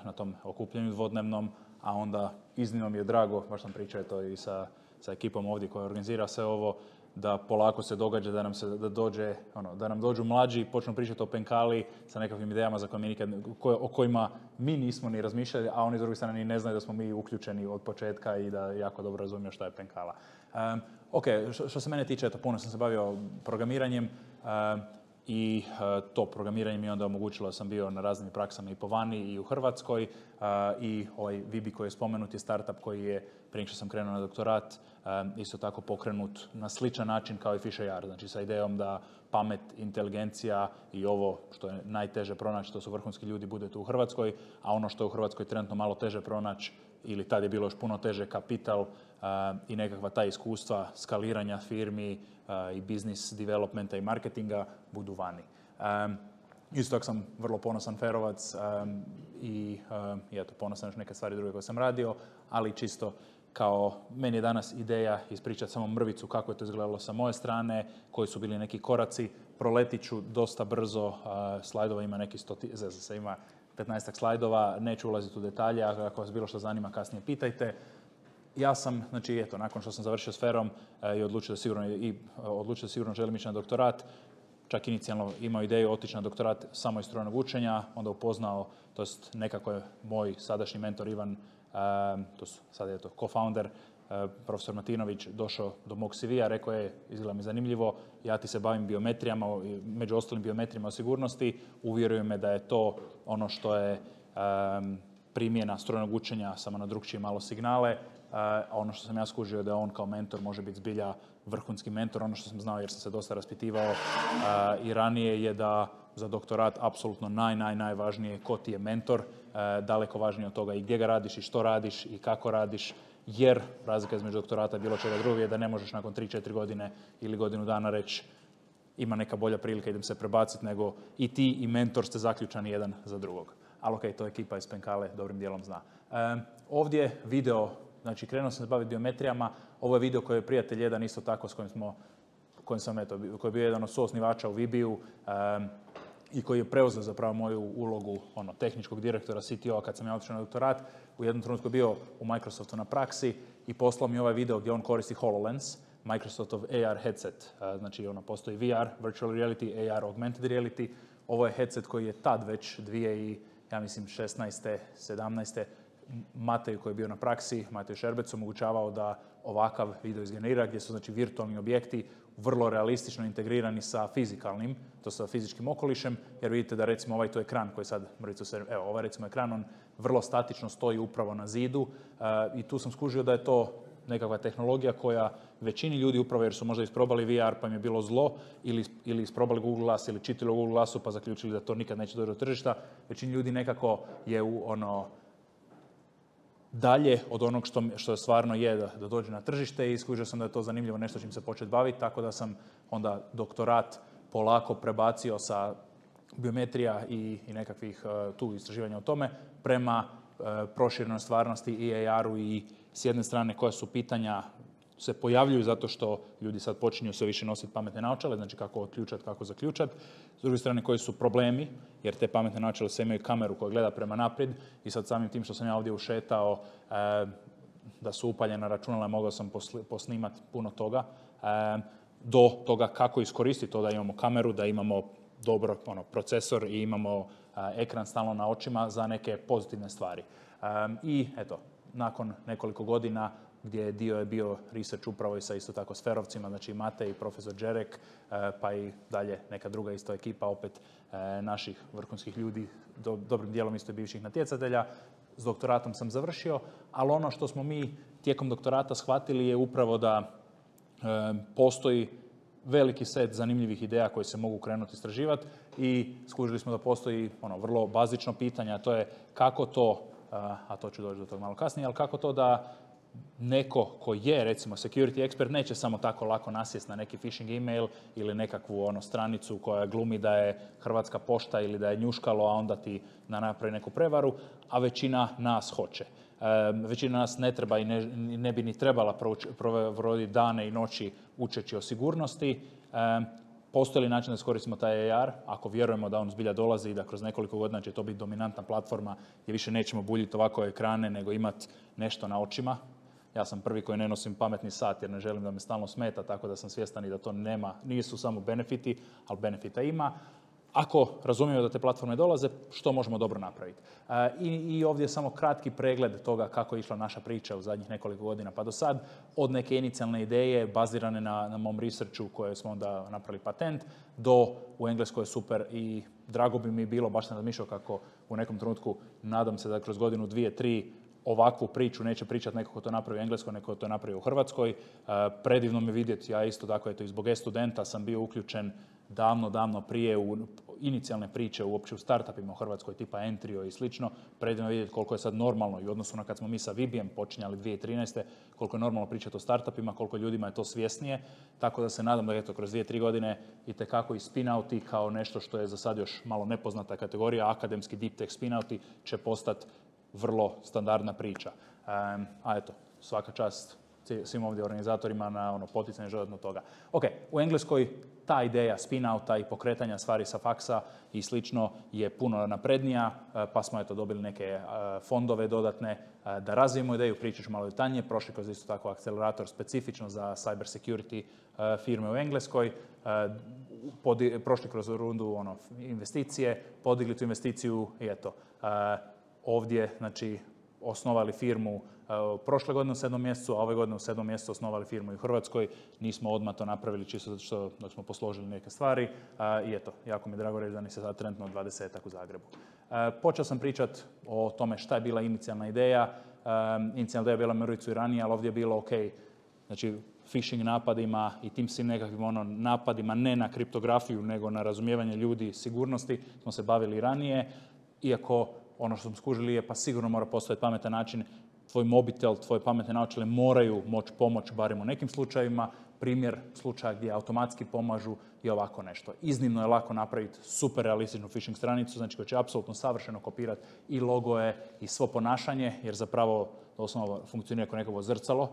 na tom okupljenju dvodnevnom, a onda iznimno mi je drago, baš sam pričao to i sa ekipom ovdje koja organizira sve ovo, da polako se događa da nam dođu mlađi i počnu pričati o Penkali sa nekakvim idejama za koje o kojima mi nismo ni razmišljali, a oni s druge strane ni ne znaju da smo mi uključeni od početka i da jako dobro razumiju šta je Penkala. Ok, što se mene tiče, puno sam se bavio programiranjem i to programiranje mi je onda omogućilo da sam bio na raznim praksama i po vani i u Hrvatskoj i ovaj Vibi koji je spomenut je startup koji je prije što sam krenuo na doktorat isto tako pokrenut na sličan način kao i Fish AR, znači sa idejom da pamet, inteligencija i ovo što je najteže pronaći, to su vrhunski ljudi, bude tu u Hrvatskoj, a ono što je u Hrvatskoj trenutno malo teže pronaći ili tad je bilo još puno teže, kapital i nekakva ta iskustva skaliranja firmi i business developmenta i marketinga budu vani. Isto tako sam vrlo ponosan ferovac i eto, ponosan još neke stvari druge koje sam radio, ali čisto kao meni je danas ideja ispričati samo mrvicu kako je to izgledalo sa moje strane, koji su bili neki koraci. Proletit ću dosta brzo, slajdova ima neki ima 15 slajdova, neću ulaziti u detalje, ako vas bilo što zanima kasnije pitajte. Ja sam, znači eto, nakon što sam završio s FER-om i odlučio da sigurno želim ići na doktorat, čak inicijalno imao ideju otići na doktorat samo iz strojnog učenja, onda upoznao, to jest nekako je moj sadašnji mentor Ivan, to su sad je to co-founder, profesor Martinović, došao do mog CV-a, rekao je, izgleda mi zanimljivo, ja ti se bavim biometrijama, među ostalim biometrijama o sigurnosti, uvjeruju me da je to ono što je primjena strojnog učenja, samo na drugčije malo signale. Ono što sam ja skužio je da on kao mentor može biti zbilja vrhunski mentor. Ono što sam znao jer sam se dosta raspitivao i ranije je da za doktorat apsolutno najvažnije ko ti je mentor, daleko važnije od toga i gdje ga radiš i što radiš i kako radiš, jer razlika između doktorata i bilo čega drugog je da ne možeš nakon 3-4 godine ili godinu dana reći ima neka bolja prilika, idem se prebaciti, nego i ti i mentor ste zaključani jedan za drugog. Ali ok, to ekipa iz Penkale dobrim dijelom zna. Ovdje video, znači krenuo sam se baviti biometrijama, ovo je video koji je prijatelj jedan isto tako s koji je bio jedan od suosnivača u Vibiju i koji je preuzeo zapravo moju ulogu tehničkog direktora CTO-a kad sam ja otišao na doktorat. U jednom trenutku je bio u Microsoftu na praksi i poslao mi ovaj video gdje on koristi HoloLens, Microsoftov AR headset. Znači postoji VR, Virtual Reality, AR, Augmented Reality. Ovo je headset koji je tad već 2016. 17. Mateju koji je bio na praksi, Mateju Šerbecu, omogućavao da ovakav video izgenerira gdje su znači virtualni objekti vrlo realistično integrirani sa fizikalnim, to sa fizičkim okolišem, jer vidite da recimo ovaj tu ekran koji sad, evo ovaj recimo ekran, on vrlo statično stoji upravo na zidu i tu sam skužio da je to nekakva tehnologija koja većini ljudi, upravo jer su možda isprobali VR pa im je bilo zlo, ili isprobali Google Glass ili čitali u Google Glassu pa zaključili da to nikad neće doći do tržišta, većini ljudi nekako je dalje od onog što stvarno je da dođe na tržište i skužio sam da je to zanimljivo nešto čim se početi baviti, tako da sam onda doktorat polako prebacio sa biometrija i nekakvih tu istraživanja o tome prema proširenoj stvarnosti i AR-u i s jedne strane koja su pitanja se pojavljuju zato što ljudi sad počinju sve više nositi pametne naočale, znači kako otključati, kako zaključati. S druge strane koji su problemi, jer te pametne naočale sve imaju kameru koja gleda prema naprijed i sad samim tim što sam ja ovdje ušetao da su upaljena računala, mogao sam posnimati puno toga, do toga kako iskoristiti to da imamo kameru, da imamo dobro procesor i imamo ekran stalno na očima za neke pozitivne stvari. I eto, nakon nekoliko godina gdje dio je bio research upravo i sa isto tako sferovcima, znači Matej i profesor Đerek, pa i dalje neka druga isto ekipa opet naših vrhunskih ljudi, dobrim dijelom isto bivših natjecatelja. S doktoratom sam završio, ali ono što smo mi tijekom doktorata shvatili je upravo da postoji veliki set zanimljivih ideja koje se mogu krenuti istraživati i skužili smo da postoji vrlo bazično pitanje, a to je kako to, a to ću doći do toga malo kasnije, ali kako to da neko ko je, recimo, security expert neće samo tako lako nasjest na neki phishing email ili nekakvu stranicu koja glumi da je Hrvatska pošta ili da je njuškalo, a onda ti napravi neku prevaru, a većina nas hoće. Većina nas ne treba i ne bi ni trebala provoditi dane i noći učeći o sigurnosti. Postoji li način da iskoristimo taj AR, ako vjerujemo da on zbilja dolazi i da kroz nekoliko godina će to biti dominantna platforma gdje više nećemo buljiti ovako ekrane nego imati nešto na očima. Ja sam prvi koji ne nosim pametni sat jer ne želim da me stalno smeta, tako da sam svjestan i da to nisu samo benefiti, ali benefita ima. Ako razumijemo da te platforme dolaze, što možemo dobro napraviti? I ovdje je samo kratki pregled toga kako je išla naša priča u zadnjih nekoliko godina pa do sad, od neke inicijalne ideje bazirane na mom researchu koje smo onda napravili patent, do u Engleskoj je super i drago bi mi bilo, baš sam razmišljao kako u nekom trenutku, nadam se da kroz godinu, 2, 3, ovakvu priču neće pričati neko ko to napravi u Engleskoj, neko ko to napravi u Hrvatskoj. Predivno mi vidjeti, ja isto tako, eto, i zbog e-studenta sam bio uključen davno prije u inicijalne priče uopće u startupima u Hrvatskoj tipa Entrio i slično. Predivno vidjeti koliko je sad normalno i u odnosu na kad smo mi sa Vibijem počinjali 2013. koliko je normalno pričati o startupima, koliko ljudima je to svjesnije. Tako da se nadam da eto, kroz 2-3 godine itekako i spin-outi kao nešto što je za sad još malo nepoznata kategorija, akademski deep tech spin-outi će postati vrlo standardna priča. A eto, svaka čast svim ovdje organizatorima na poticanje dodatno toga. Ok, u Engleskoj ta ideja spin-outa i pokretanja stvari sa faksa i slično je puno naprednija, pa smo eto dobili neke fondove dodatne da razvijemo ideju, pričat ću malo detaljnije, prošli kroz isto tako akcelerator specifično za cyber security firme u Engleskoj, prošli kroz rundu investicije, podigli tu investiciju i eto, ovdje, znači, osnovali firmu prošle godine u 7. mjesecu, a ove godine u 7. mjesecu osnovali firmu i u Hrvatskoj. Nismo odmah to napravili čisto zato što dok smo posložili neke stvari. I eto, jako mi je drago reći da ni se sad trenutno 20-ak u Zagrebu. Počeo sam pričati o tome šta je bila inicijalna ideja. Inicijalna ideja je bila Mauriciju i ranije, ali ovdje je bilo ok, znači phishing napadima i tim svim nekakvim napadima ne na kriptografiju nego na razumijevanje ljudi sigurnosti smo se bavili ranije. Iako ono što smo skužili je pa sigurno mora postojati pametan način, tvoj mobitel, tvoje pametne naočale moraju moći pomoći barem u nekim slučajevima. Primjer slučaja gdje automatski pomažu je ovako nešto. Iznimno je lako napraviti super realističnu phishing stranicu, znači koja će apsolutno savršeno kopirati i logoje i svo ponašanje, jer zapravo osnovno funkcionira kao nekako zrcalo,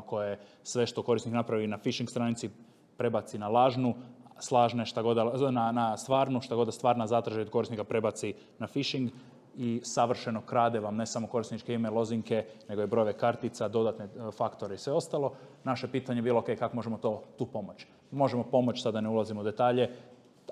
koje sve što korisnik napravi na phishing stranici prebaci na lažnu, slažne šta god na stvarnu, šta god da stvarna zatraži od korisnika prebaci na phishing i savršeno krade vam ne samo korisničke email lozinke, nego i brojeve kartica, dodatne faktore i sve ostalo. Naše pitanje je bilo ok, kako možemo tu pomoći. Možemo pomoći, sada ne ulazimo u detalje,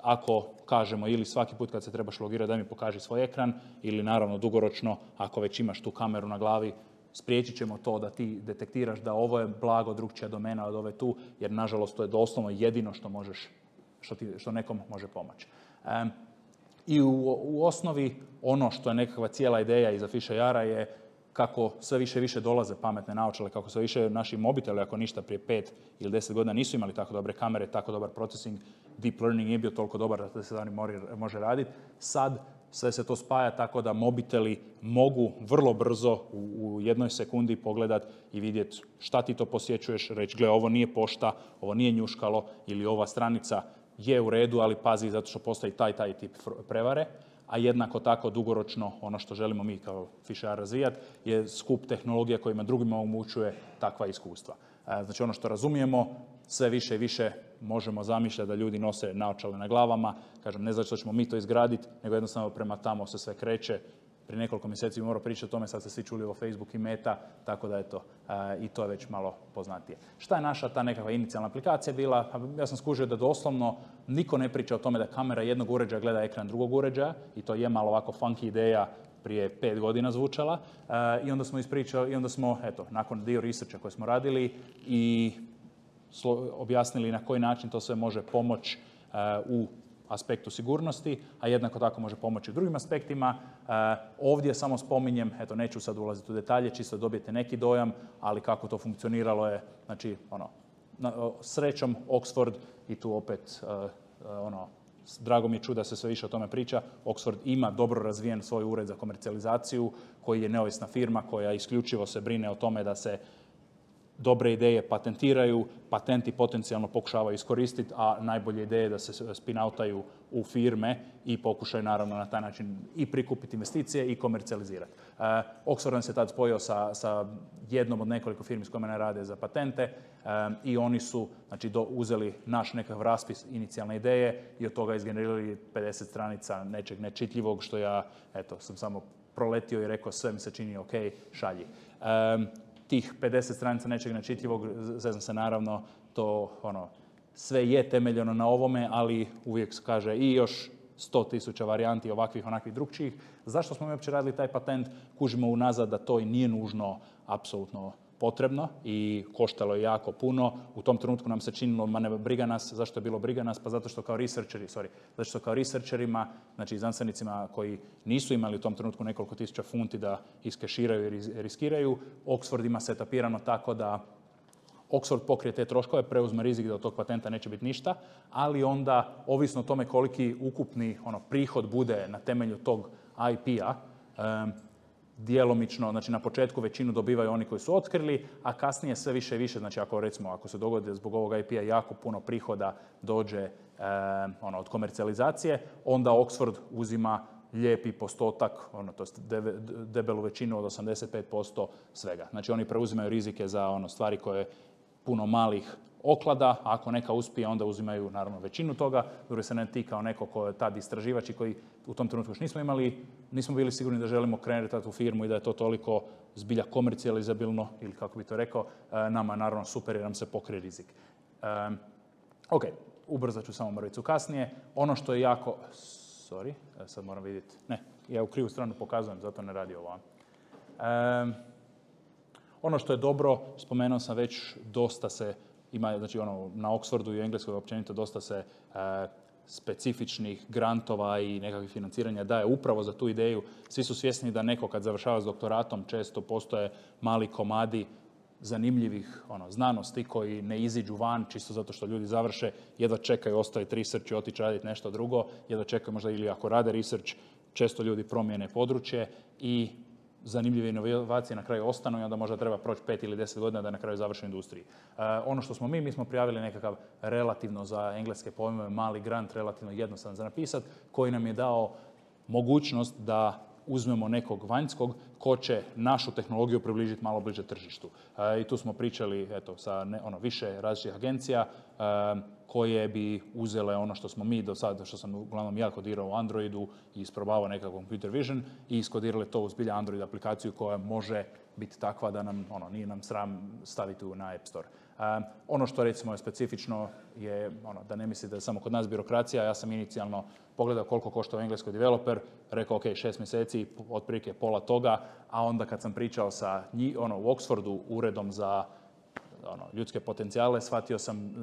ako kažemo ili svaki put kad se trebaš logirati da mi pokaži svoj ekran ili naravno dugoročno, ako već imaš tu kameru na glavi, spriječit ćemo to da ti detektiraš da ovo je blago drugčija domena od ove tu, jer nažalost to je doslovno jedino što možeš, što nekom može pomoći. I u osnovi ono što je nekakva cijela ideja iza Fish AR-a je kako sve više i više dolaze pametne naočale, kako sve više naši mobiteli, ako ništa prije 5 ili 10 godina nisu imali tako dobre kamere, tako dobar processing, deep learning nije bio toliko dobar da se da može raditi. Sad sve se to spaja tako da mobiteli mogu vrlo brzo u jednoj sekundi pogledat i vidjeti šta ti to posjećuješ, reći gle, ovo nije pošta, ovo nije njuškalo ili ova stranica je u redu, ali pazi zato što postoji taj tip prevare. A jednako tako dugoročno ono što želimo mi kao Fisher razvijati je skup tehnologija kojima drugima omogućuje takva iskustva. Znači ono što razumijemo, sve više i više možemo zamišljati da ljudi nose naočale na glavama. Kažem, ne zato što ćemo mi to izgraditi, nego jednostavno prema tamo se sve kreće. Prije nekoliko mjeseci bi morao pričati o tome, sad ste svi čuli o Facebook i Meta, tako da eto, i to je već malo poznatije. Šta je naša ta nekakva inicijalna aplikacija bila? Ja sam skužio da doslovno niko ne priča o tome da kamera jednog uređaja gleda ekran drugog uređaja i to je malo ovako funky ideja prije 5 godina zvučala. I onda smo ispričali, i onda smo, eto, nakon dio researcha koji smo radili i objasnili na koji način to sve može pomoći u aspektu sigurnosti, a jednako tako može pomoći u drugim aspektima. Ovdje samo spominjem, eto neću sad ulaziti u detalje, čisto dobijete neki dojam, ali kako to funkcioniralo je, znači, srećom Oxford i tu opet, drago mi je čuti da se sve više o tome priča. Oxford ima dobro razvijen svoj ured za komercijalizaciju, koji je neovisna firma koja isključivo se brine o tome da se dobre ideje patentiraju, patenti potencijalno pokušavaju iskoristiti, a najbolje ideje da se spin-outaju u firme i pokušaju naravno na taj način i prikupiti investicije i komercijalizirati. Oxford nam se tad spojio sa jednom od nekoliko firmi s kojima ne rade za patente i oni su uzeli naš nekakav raspis inicijalne ideje i od toga izgenerirali 50 stranica nečeg nečitljivog što ja sam samo proletio i rekao sve mi se čini ok, šalji. Tih 50 stranica nečeg nečitljivog, zezam se naravno, to sve je temeljeno na ovome, ali uvijek se kaže i još 100.000 varijanti ovakvih, onakvih drugčijih. Zašto smo mi uopće radili taj patent? Kužimo unazad da to i nije nužno apsolutno potrebno i koštalo je jako puno. U tom trenutku nam se činilo, ma ne briga nas. Zašto je bilo briga nas? Pa zato što kao researcherima, znači znanstvenicima koji nisu imali u tom trenutku nekoliko tisuća funti da iskeširaju i riskiraju, Oxford ima setapirano tako da Oxford pokrije te troškove, preuzme rizik da od tog patenta neće biti ništa, ali onda, ovisno o tome koliki ukupni prihod bude na temelju tog IP-a, djelomično, znači na početku većinu dobivaju oni koji su otkrili, a kasnije sve više i više, znači ako se dogodi zbog ovog IP-a jako puno prihoda dođe od komercijalizacije, onda Oxford uzima lijepi postotak, to je debelu većinu od 85% svega. Znači oni preuzimaju rizike za stvari koje puno malih oklada, a ako neka uspije, onda uzimaju naravno većinu toga. Drugi se ne ti kao neko ko je tad istraživač i koji u tom trenutku još nismo bili sigurni da želimo krenuti u firmu i da je to toliko zbilja komercijalizabilno, ili kako bi to rekao, nama naravno super jer nam se pokrije rizik. Ok, ubrzat ću samo mrvicu kasnije. Ono što je jako... sad moram vidjeti. Ne, ja u krivu stranu pokazujem, zato ne radi ovo. Ono što je dobro, spomenuo sam već, dosta se ima, znači na Oxfordu i Engleskoj općenito dosta se specifičnih grantova i nekakvih financiranja daje upravo za tu ideju. Svi su svjesni da neko kad završava s doktoratom često postoje mali komadi zanimljivih znanosti koji ne iziđu van čisto zato što ljudi završe, jedva čekaju ostaviti research i otići raditi nešto drugo, jedva čekaju možda ili ako rade research, često ljudi promijene područje i zanimljive inovacije na kraju ostanu i onda možda treba proći 5 ili 10 godina da na kraju završi u industriji. Ono što smo mi smo prijavili nekakav relativno za engleske pojmove mali grant, relativno jednostavan za napisati, koji nam je dao mogućnost da uzmemo nekog vanjskog ko će našu tehnologiju približiti malo bliže tržištu. I tu smo pričali sa više različitih agencija koje bi uzele ono što smo mi do sada, što sam uglavnom ja kodirao u Androidu i isprobavao nekakav computer vision i iskodirali to u zbilja Android aplikaciju koja može biti takva da nam nije nam sram staviti na App Store. Ono što recimo je specifično je da ne mislite da je samo kod nas birokracija. Ja sam inicijalno pogledao koliko košta u Engleskoj developer, rekao ok, 6 mjeseci, otprilike pola toga, a onda kad sam pričao sa u Oxfordu uredom za ljudske potencijale, shvatio sam,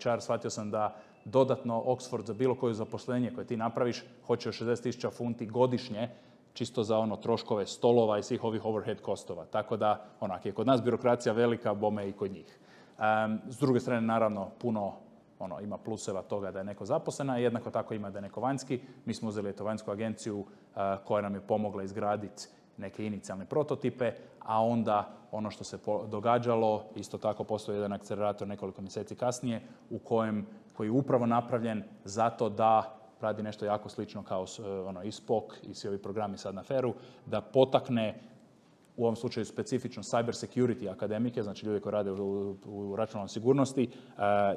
HR, shvatio sam da dodatno Oxford za bilo koje zaposlenje koje ti napraviš hoće 60.000 funti godišnje čisto za troškove stolova i svih ovih overhead kostova. Tako da, ako je kod nas birokracija velika, bome i kod njih. S druge strane, naravno, puno ima pluseva toga da je neko zaposlen, a jednako tako ima da je neko vanjski. Mi smo uzeli vanjsku agenciju koja nam je pomogla izgraditi neke inicijalne prototipe, a onda ono što se događalo, isto tako postoji jedan akcelerator nekoliko mjeseci kasnije koji je upravo napravljen zato da radi nešto jako slično kao i SPOC i svi ovi programi sad na FER-u, da potakne u ovom slučaju specifično cyber security akademike, znači ljudi koji rade u računalnoj sigurnosti,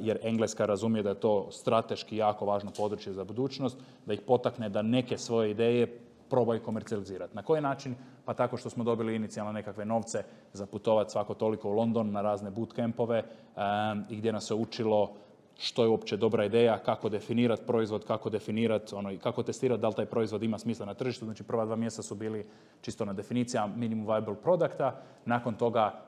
jer Engleska razumije da je to strateški jako važno područje za budućnost, da ih potakne da neke svoje ideje probaju komercijalizirati. Na koji način? Pa tako što smo dobili inicijalno nekakve novce za putovati svako toliko u London na razne bootcampove i gdje nas se učilo što je uopće dobra ideja, kako definirati proizvod, kako definirati, kako testirati da li taj proizvod ima smisla na tržištu. Znači prva 2 mjeseca su bili čisto na definicija minimum viable producta, nakon toga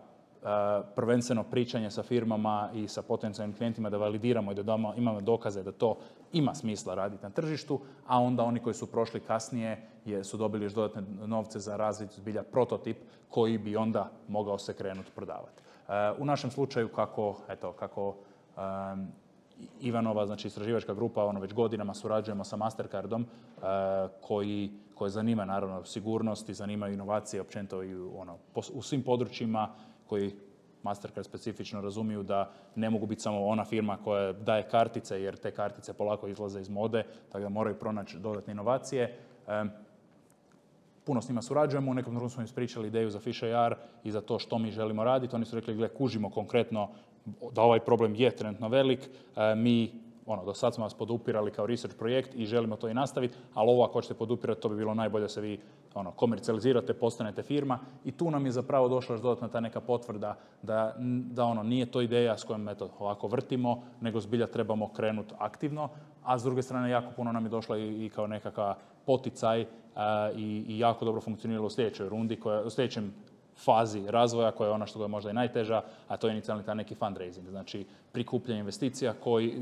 prvenstveno pričanje sa firmama i sa potencijalnim klijentima da validiramo i da imamo dokaze da to ima smisla raditi na tržištu, a onda oni koji su prošli kasnije su dobili još dodatne novce za razvit zbilja prototip koji bi onda mogao se krenuti prodavati. U našem slučaju kako Ivanova, znači istraživačka grupa, već godinama surađujemo sa Mastercardom koji zanima naravno sigurnost i zanima inovacije općenito i u svim područjima koji Mastercard specifično razumiju da ne mogu biti samo ona firma koja daje kartice, jer te kartice polako izlaze iz mode, tako da moraju pronaći dodatne inovacije. Puno s njima surađujemo, u nekom trenutku smo im ispričali ideju za Fish.ar i za to što mi želimo raditi. Oni su rekli, gle, kužimo konkretno da ovaj problem je trenutno velik, mi do sad smo vas podupirali kao research projekt i želimo to i nastaviti, ali ovo ako hoćete podupirati, to bi bilo najbolje da se vi komercijalizirate, postanete firma i tu nam je zapravo došla još dodatna ta neka potvrda da nije to ideja s kojom ovako vrtimo, nego zbilja trebamo krenuti aktivno, a s druge strane jako puno nam je došla i kao nekakav poticaj i jako dobro funkcioniralo u sljedećoj rundi, u sljedećem fazi razvoja koja je ona što je možda i najteža, a to je inicijalni taj neki fundraising, znači prikupljanje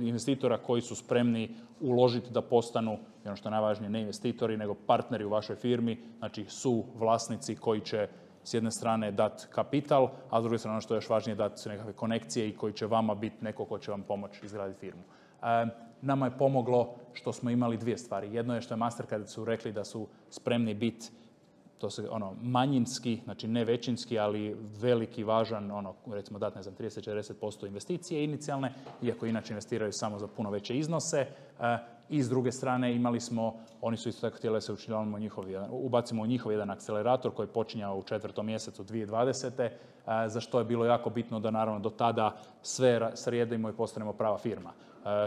investitora koji su spremni uložiti da postanu, ono što je najvažnije, ne investitori, nego partneri u vašoj firmi, znači su vlasnici koji će s jedne strane dati kapital, a s druge strane ono što je još važnije dati nekakve konekcije i koji će vama biti neko ko će vam pomoći izgraditi firmu. Nama je pomoglo što smo imali 2 stvari. Jedno je što je Mastercard su rekli da su spremni biti to se manjinski, znači ne većinski, ali veliki, važan, recimo dati 30-40% investicije inicijalne, iako inače investiraju samo za puno veće iznose. I s druge strane imali smo, oni su isto tako htjeli da se ubacimo u njihov jedan akcelerator koji je počinjao u 4. mjesecu 2020. Za što je bilo jako bitno da naravno do tada sve sredimo i postanemo prava firma.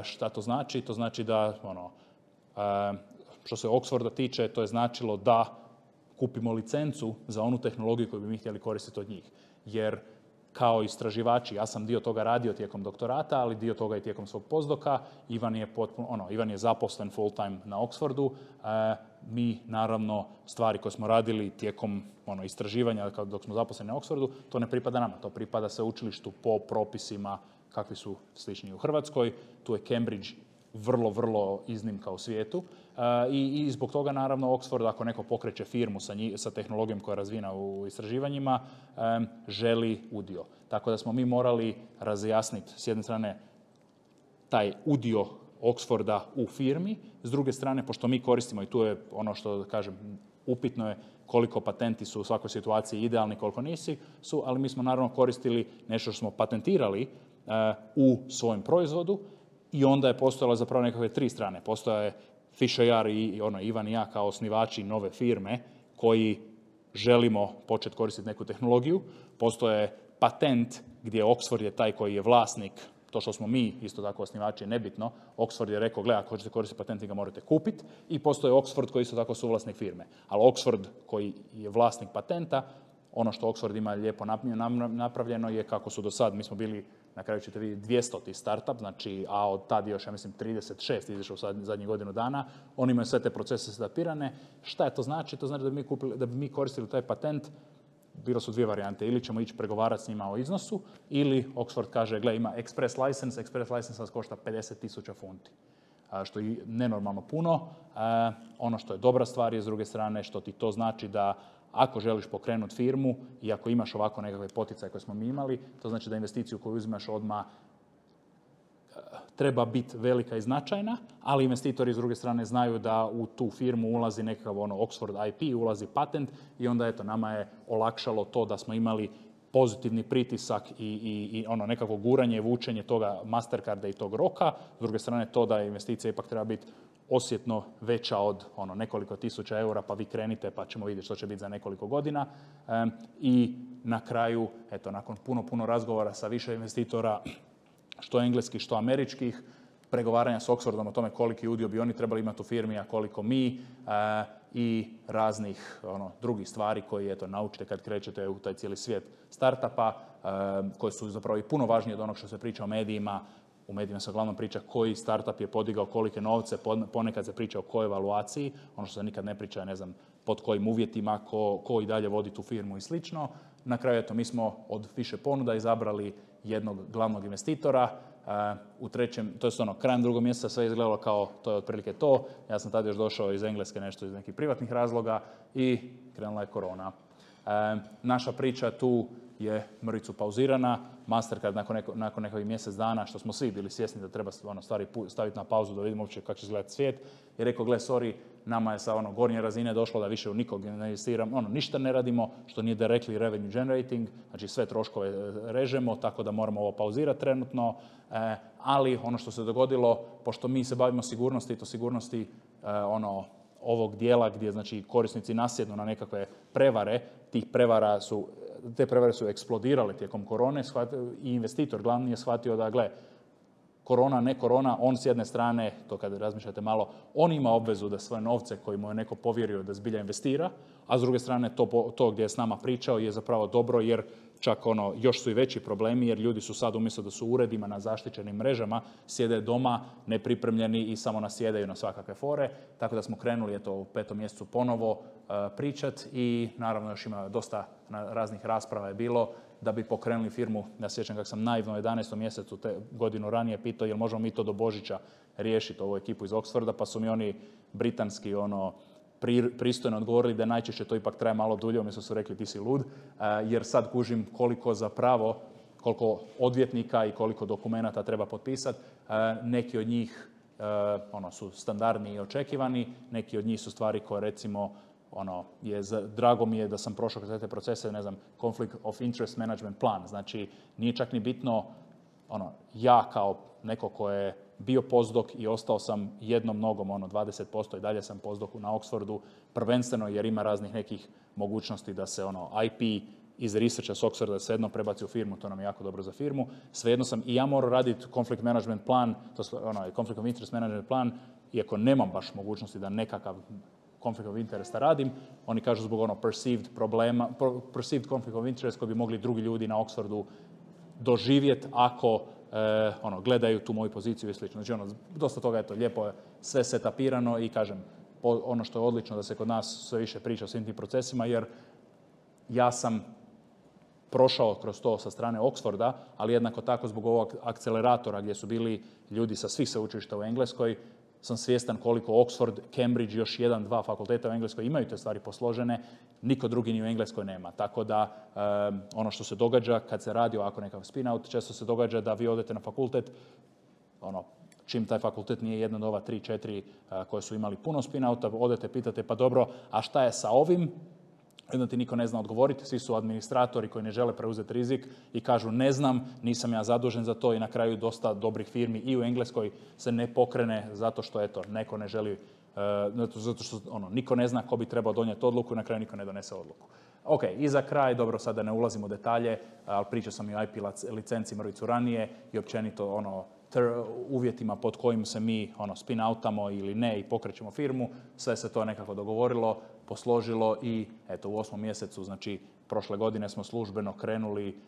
Šta to znači? To znači da, što se Oxforda tiče, to je značilo da kupimo licencu za onu tehnologiju koju bi mi htjeli koristiti od njih. Jer kao istraživači, ja sam dio toga radio tijekom doktorata, ali dio toga i tijekom svog postdoka. Ivan je zaposlen full time na Oxfordu. Mi, naravno, stvari koje smo radili tijekom istraživanja dok smo zaposleni na Oxfordu, to ne pripada nama. To pripada sveučilištu po propisima kakvi su slični u Hrvatskoj. Tu je Cambridge vrlo, vrlo iznimka u svijetu i zbog toga naravno Oxford, ako neko pokreće firmu sa tehnologijom koja je razvijena u istraživanjima, želi udio. Tako da smo mi morali razjasniti s jedne strane taj udio Oxforda u firmi, s druge strane, pošto mi koristimo, i tu je ono što kažem, upitno je koliko patenti su u svakoj situaciji idealni, koliko nisu, ali mi smo naravno koristili nešto što smo patentirali u svojem proizvodu. I onda je postojalo zapravo nekakve 3 strane. Postoje Fish.ar i Ivan i ja kao osnivači nove firme koji želimo početi koristiti neku tehnologiju. Postoje patent gdje Oxford je taj koji je vlasnik, to što smo mi isto tako osnivači je nebitno. Oxford je rekao, ako hoćete koristiti patent, vi ga morate kupiti. I postoje Oxford koji isto tako suvlasnik firme. Ali Oxford koji je vlasnik patenta, ono što Oxford ima lijepo napravljeno je kako su do sad, mi smo bili, na kraju ćete vidjeti, 200 startup, znači, a od tad još, ja mislim, 36 izašao u zadnjih godinu dana. Oni imaju sve te procese setapirane. Šta je to znači? To znači da bi mi koristili taj patent, bilo su 2 varijante. Ili ćemo ići pregovarati s njima o iznosu, ili Oxford kaže, gle, ima express license vas košta 50,000 funti. što je nenormalno puno. Ono što je dobra stvar je s druge strane što ti to znači da ako želiš pokrenuti firmu i ako imaš ovako nekakve poticaje koje smo mi imali, to znači da investiciju koju uzimaš odmah treba biti velika i značajna, ali investitori s druge strane znaju da u tu firmu ulazi nekakav Oxford IP, ulazi patent i onda eto nama je olakšalo to da smo imali pozitivni pritisak i nekako guranje, vučenje toga Mastercarda i tog roka. S druge strane to da investicija ipak treba biti osjetno veća od nekoliko tisuća eura, pa vi krenite pa ćemo vidjeti što će biti za nekoliko godina. I na kraju, eto, nakon puno razgovora sa više investitora, što engleskih, što američkih, pregovaranja s Oxfordom o tome koliki udio bi oni trebali imati u firmi, a koliko mi, i raznih drugih stvari koje eto, naučite kad krećete u taj cijeli svijet startupa, koje su zapravo i puno važnije od onog što se priča o medijima. U medijima se uglavnom priča koji startup je podigao kolike novce, ponekad se priča o kojoj evaluaciji, ono što se nikad ne priča, ne znam, pod kojim uvjetima, ko i dalje vodi tu firmu i slično. Na kraju, eto, mi smo od više ponuda izabrali jednog glavnog investitora. U trećem, to je krajem drugog mjeseca sve izgledalo kao to je otprilike to. Ja sam tada još došao iz Engleske, nešto iz nekih privatnih razloga i krenula je korona. Naša priča tu je mrvicu pauzirana. Mastercard nakon nekih mjesec dana, što smo svi bili svjesni da treba stvari staviti na pauzu da vidimo uopće kako će izgledati svijet, je rekao, gle, sorry, nama je sa gornje razine došlo da više u nikog ne investiramo, ništa ne radimo, što nije directly revenue generating, znači sve troškove režemo, tako da moramo ovo pauzirati trenutno, ali ono što se dogodilo, pošto mi se bavimo sigurnosti, to sigurnosti ovog dijela gdje znači korisnici nasjednu na nekakve prevare, te prevare su eksplodirale tijekom korone i investitor glavni je shvatio da, gle, korona, ne korona, on s jedne strane, to kad razmišljate malo, on ima obvezu da svoje novce koji mu je neko povjerio da zbilja investira, a s druge strane to gdje je s nama pričao je zapravo dobro jer čak još su i veći problemi jer ljudi su sad umjesto da su u uredima na zaštićenim mrežama, sjede doma nepripremljeni i samo nasjedaju na svakakve fore, tako da smo krenuli u 5. mjesecu ponovo pričati i naravno još ima dosta raznih rasprava je bilo da bi pokrenuli firmu. Ja sjećam kako sam naivno u 11. mjesecu godinu ranije pitao jel možemo mi to do Božića riješiti ovu ekipu iz Oxforda, pa su mi oni britanski pristojno odgovorili da najčešće to ipak traje malo dulje, umjesto su rekli ti si lud, jer sad kužim koliko odvjetnika i koliko dokumenata treba potpisati. Neki od njih su standardni i očekivani, neki od njih su stvari koje recimo drago mi je da sam prošao kroz te procese, ne znam, conflict of interest management plan, znači nije čak ni bitno ja kao neko ko je bio postdoc i ostao sam jednom nogom, 20% i dalje sam postdoc na Oxfordu, prvenstveno jer ima raznih nekih mogućnosti da se IP iz researcha s Oxforda svejedno prebaci u firmu, to nam je jako dobro za firmu. Svejedno sam i ja morao raditi conflict management plan, conflict of interest management plan, iako nemam baš mogućnosti da nekakav conflict of interest radim, oni kažu zbog perceived problema, perceived conflict of interest koji bi mogli drugi ljudi na Oxfordu doživjeti ako gledaju tu moju poziciju i slično. Znači, dosta toga je to lijepo, je sve setapirano i kažem, ono što je odlično da se kod nas sve više priča o svim tim procesima, jer ja sam prošao kroz to sa strane Oxforda, ali jednako tako zbog ovog akceleratora gdje su bili ljudi sa svih sveučilišta u Engleskoj, sam svjestan koliko Oxford, Cambridge, još 1-2 fakulteta u Engleskoj imaju te stvari posložene, niko drugi ni u Engleskoj nema. Tako da ono što se događa kad se radi ovako nekakav spin-out, često se događa da vi odete na fakultet, čim taj fakultet nije jedna od ova 3-4 koje su imali puno spin-outa, odete, pitate pa dobro, a šta je sa ovim? Jedno ti niko ne zna odgovoriti, svi su administratori koji ne žele preuzeti rizik i kažu ne znam, nisam ja zadužen za to i na kraju dosta dobrih firmi i u Engleskoj se ne pokrene zato što neko ne želi, zato što niko ne zna ko bi trebao donijeti odluku i na kraju niko ne donese odluku. Ok, i za kraj, dobro sada ne ulazim u detalje, ali pričao sam i o IP licenci mrvicu ranije i općenito uvjetima pod kojim se mi spin-outamo ili ne i pokrećemo firmu, sve se to nekako dogovorilo, posložilo i eto u 8. mjesecu, znači prošle godine smo službeno krenuli,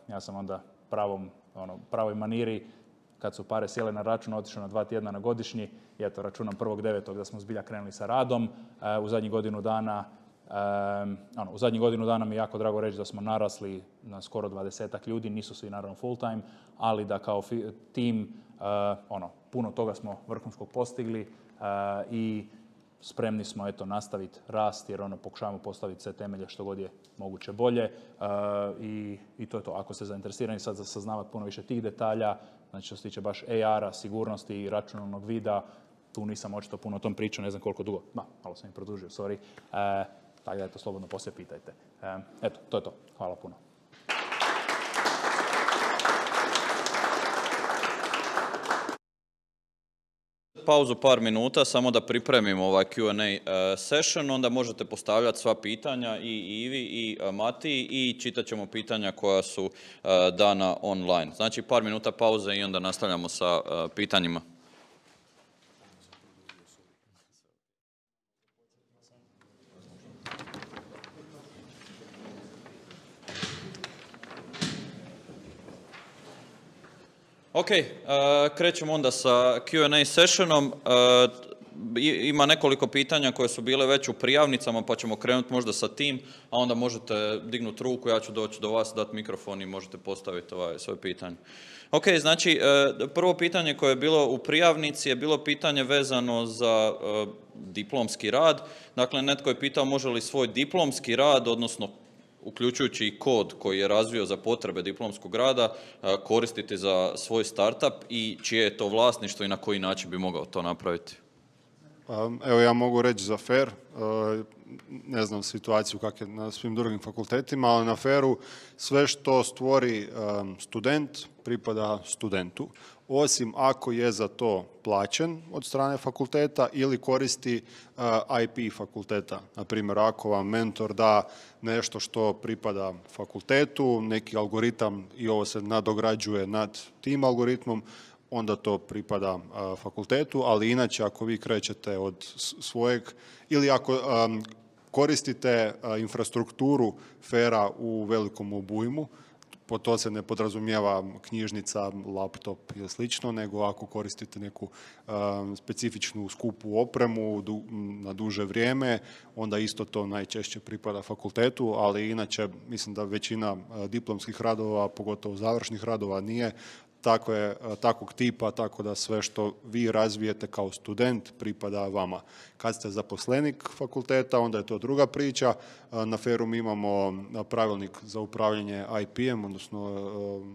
ja sam onda pravoj maniri, kad su pare sjele na račun, otišao na 2 tjedna na godišnji i eto računam 1.9. da smo zbilja krenuli sa radom. U zadnjih godinu dana mi je jako drago reći da smo narasli na skoro 20 ljudi, nisu svi naravno full time, ali da kao tim puno toga smo vrhunskog postigli i spremni smo nastaviti rast jer pokušavamo postaviti sve temelje što god je moguće bolje i to je to. Ako ste zainteresirani sad za saznavati puno više tih detalja, znači što se tiče baš AR-a, sigurnosti i računalnog vida, tu nisam očito puno o tom pričao, ne znam koliko dugo. Malo sam im produžio, sorry. Tako da slobodno poslije pitajte. Eto, to je to. Hvala puno. Pauzu par minuta, samo da pripremimo ovaj Q&A session, onda možete postavljati sva pitanja i Ivi i Matiji i čitat ćemo pitanja koja su dana online. Znači par minuta pauze i onda nastavljamo sa pitanjima. Ok, krećemo onda sa Q&A sessionom. Ima nekoliko pitanja koje su bile već u prijavnicama, pa ćemo krenuti možda sa tim, a onda možete dignuti ruku, ja ću doći do vas, dati mikrofon i možete postaviti svoje pitanje. Ok, znači prvo pitanje koje je bilo u prijavnici je bilo pitanje vezano za diplomski rad. Dakle, netko je pitao može li svoj diplomski rad, odnosno uključujući i kod koji je razvio za potrebe diplomskog rada, koristiti za svoj startup i čije je to vlasništvo i na koji način bi mogao to napraviti? Evo ja mogu reći za FAIR, ne znam situaciju kak je na svim drugim fakultetima, ali na FAIR-u sve što stvori student pripada studentu, osim ako je za to plaćen od strane fakulteta ili koristi IP fakulteta. Na primjer, ako vam mentor da nešto što pripada fakultetu, neki algoritam i ovo se nadograđuje nad tim algoritmom, onda to pripada fakultetu, ali inače ako vi krećete od svojeg ili ako koristite infrastrukturu FAIR-a u velikom obujmu, po to se ne podrazumijeva knjižnica, laptop ili slično, nego ako koristite neku specifičnu skupu opremu na duže vrijeme, onda isto to najčešće pripada fakultetu, ali inače mislim da većina diplomskih radova, pogotovo završnih radova, nije takvog tipa, tako da sve što vi razvijete kao student pripada vama. Kad ste zaposlenik fakulteta, onda je to druga priča. Na FAIR-u mi imamo pravilnik za upravljanje IP-em, odnosno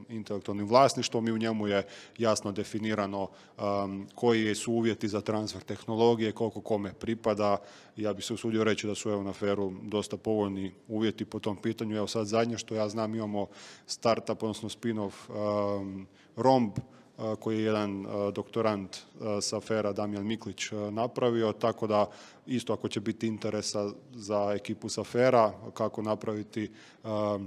intelektualnim vlasništvom i u njemu je jasno definirano koji su uvjeti za transfer tehnologije, koliko kome pripada. Ja bih se usudio reći da su na FAIR-u dosta povoljni uvjeti po tom pitanju. Evo sad zadnje što ja znam imamo startup, odnosno spin-off Romb, koji je jedan doktorant sa FAIR-a, Damjan Miklić, napravio, tako da isto ako će biti interesa za ekipu sa FAIR-a, kako napraviti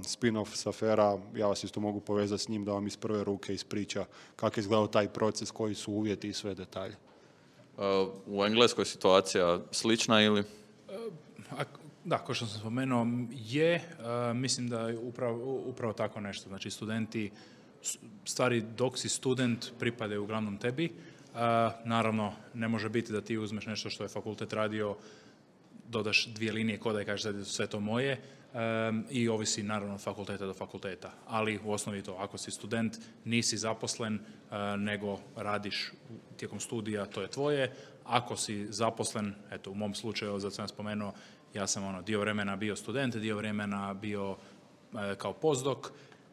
spin-off sa FAIR-a, ja vas isto mogu povezati s njim da vam iz prve ruke ispriča kako je izgledao taj proces, koji su uvjeti i sve detalje. U Engleskoj situacija slična ili? Da, kao što sam spomenuo, mislim da je upravo tako nešto. Znači, studenti, stvari dok si student pripadaju uglavnom tebi. Naravno, ne može biti da ti uzmeš nešto što je fakultet radio, dodaš 2 linije koda i kažeš da je sve to moje i ovisi naravno od fakulteta do fakulteta. Ali u osnovi to, ako si student, nisi zaposlen, nego radiš tijekom studija, to je tvoje. Ako si zaposlen, eto u mom slučaju, zato sam spomenuo, ja sam dio vremena bio student, dio vremena bio kao postdoc,